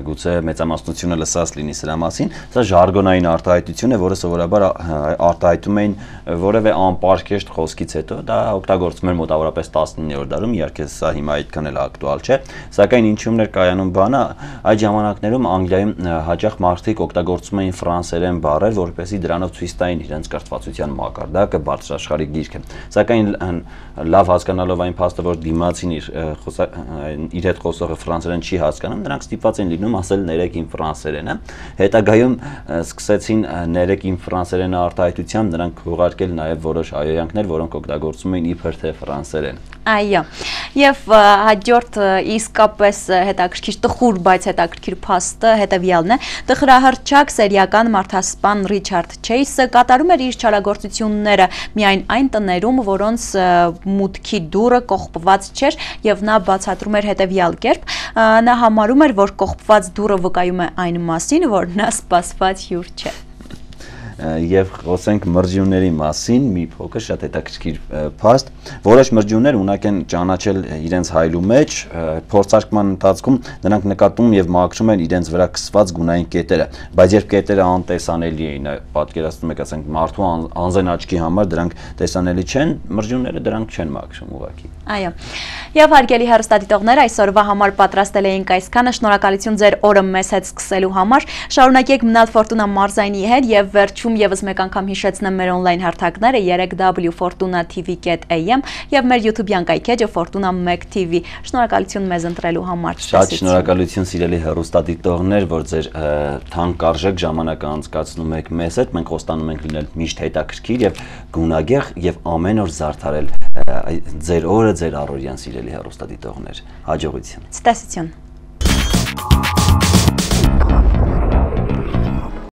գուցե մեծամասնությունը լսած լինի սրա մասին, սա ժարգոնային արտահայտություն է, որը սովորաբար արտահայտում էին որևէ անպարկեշտ խոսքից հետո, դա օգտագործվում էր մոտավորապես 19-րդ դարում, իհարկե սա հիմա այդքան էլ ակտուալ չէ, սակայն ինչումն էր կայանում բանը, այդ ժամանակներում Անգլիայում հաճախ մարդիկ օգտագործում էին ֆրանսերեն բառեր, որպեսզի դրանով ցույց տային իրենց կրթվածության մակարդակը, բարձրաշխարհիկ գիրքը, սակայն լավ հասկանալով այն փաստը, որ դիմացին իր հետ խոսողը ֆրանսերեն չի հասկանում, նրանք ստիպված են լինում ասել ներեք իմ ֆրանսերենը։ Հետագայում սկսեցին ներեք իմ ֆրանսերենը արտահայտությամբ նրանք ուղարկել նաև որոշ հայհոյանքներ, որոնք օգտագործում էին իբր թե ֆրանսերեն։ Այո, եւ հաջորդ իսկապես հետաքրքիր տխուր, բայց հետաքրքիր փաստը հետեւյալն է. տխրահռչակ սերիական մարդասպան Ռիչարդ Չեյսը կատարում էր իր չարագործությունները միայն այն տներում, որոնց մուտքի դուռը կողպված չէր, եւ նա բացատրում էր հետեւյալ կերպ. նա համարում էր, որ կողպված դուռը վկայում է այն մասին, որ նա սպասված հյուր չէ։ Եվ խոսենք մրջյունների մասին, մի փոքր շատ հետաքրքիր փաստ, որոշ մրջյուններ ունակ են ճանաչել իրենց հայլու մեջ, փորձարկման ընթացքում նրանք նկատում եւ մաքրում են իրենց վրա քսված գունային կետերը, բայց երբ կետերը անտեսանելի էին, պատկերացնում եք, ասենք մարդու անզեն աչքի համար դրանք տեսանելի չեն, մրջյունները դրանք չեն մաքրում ուղղակի։ Այո։ Եվ հարգելի հեռուստադիտողներ, այսօրվա համար պատրաստել էինք այսքանը, շնորհակալություն ձեր օրը մեզ հետ սկսելու համար։ Շարունակեք մնալ Ֆորտունա մարզայինի հետ եւ վերջում եւս մեկ անգամ հիշեցնեմ մեր on-line հարթակները 3w.fortuna.tv.am եւ մեր YouTube-յան կայքեջը Fortuna 1 TV։ Շնորհակալություն մեզ ընտրելու համար։ Շատ շնորհակալություն սիրելի հեռուստադիտողներ, որ ձեր թանկարժեք ժամանակը անցկացնում եք մեզ հետ։ Մենք խոստանում ենք լինել միշտ հետաքրքիր եւ գունագեղ եւ ամեն օր զարդարել ձեր օրը, ձեր առօրյան սիրելի հեռուստադիտողներ։ Հաջողություն։ Ցտեսություն։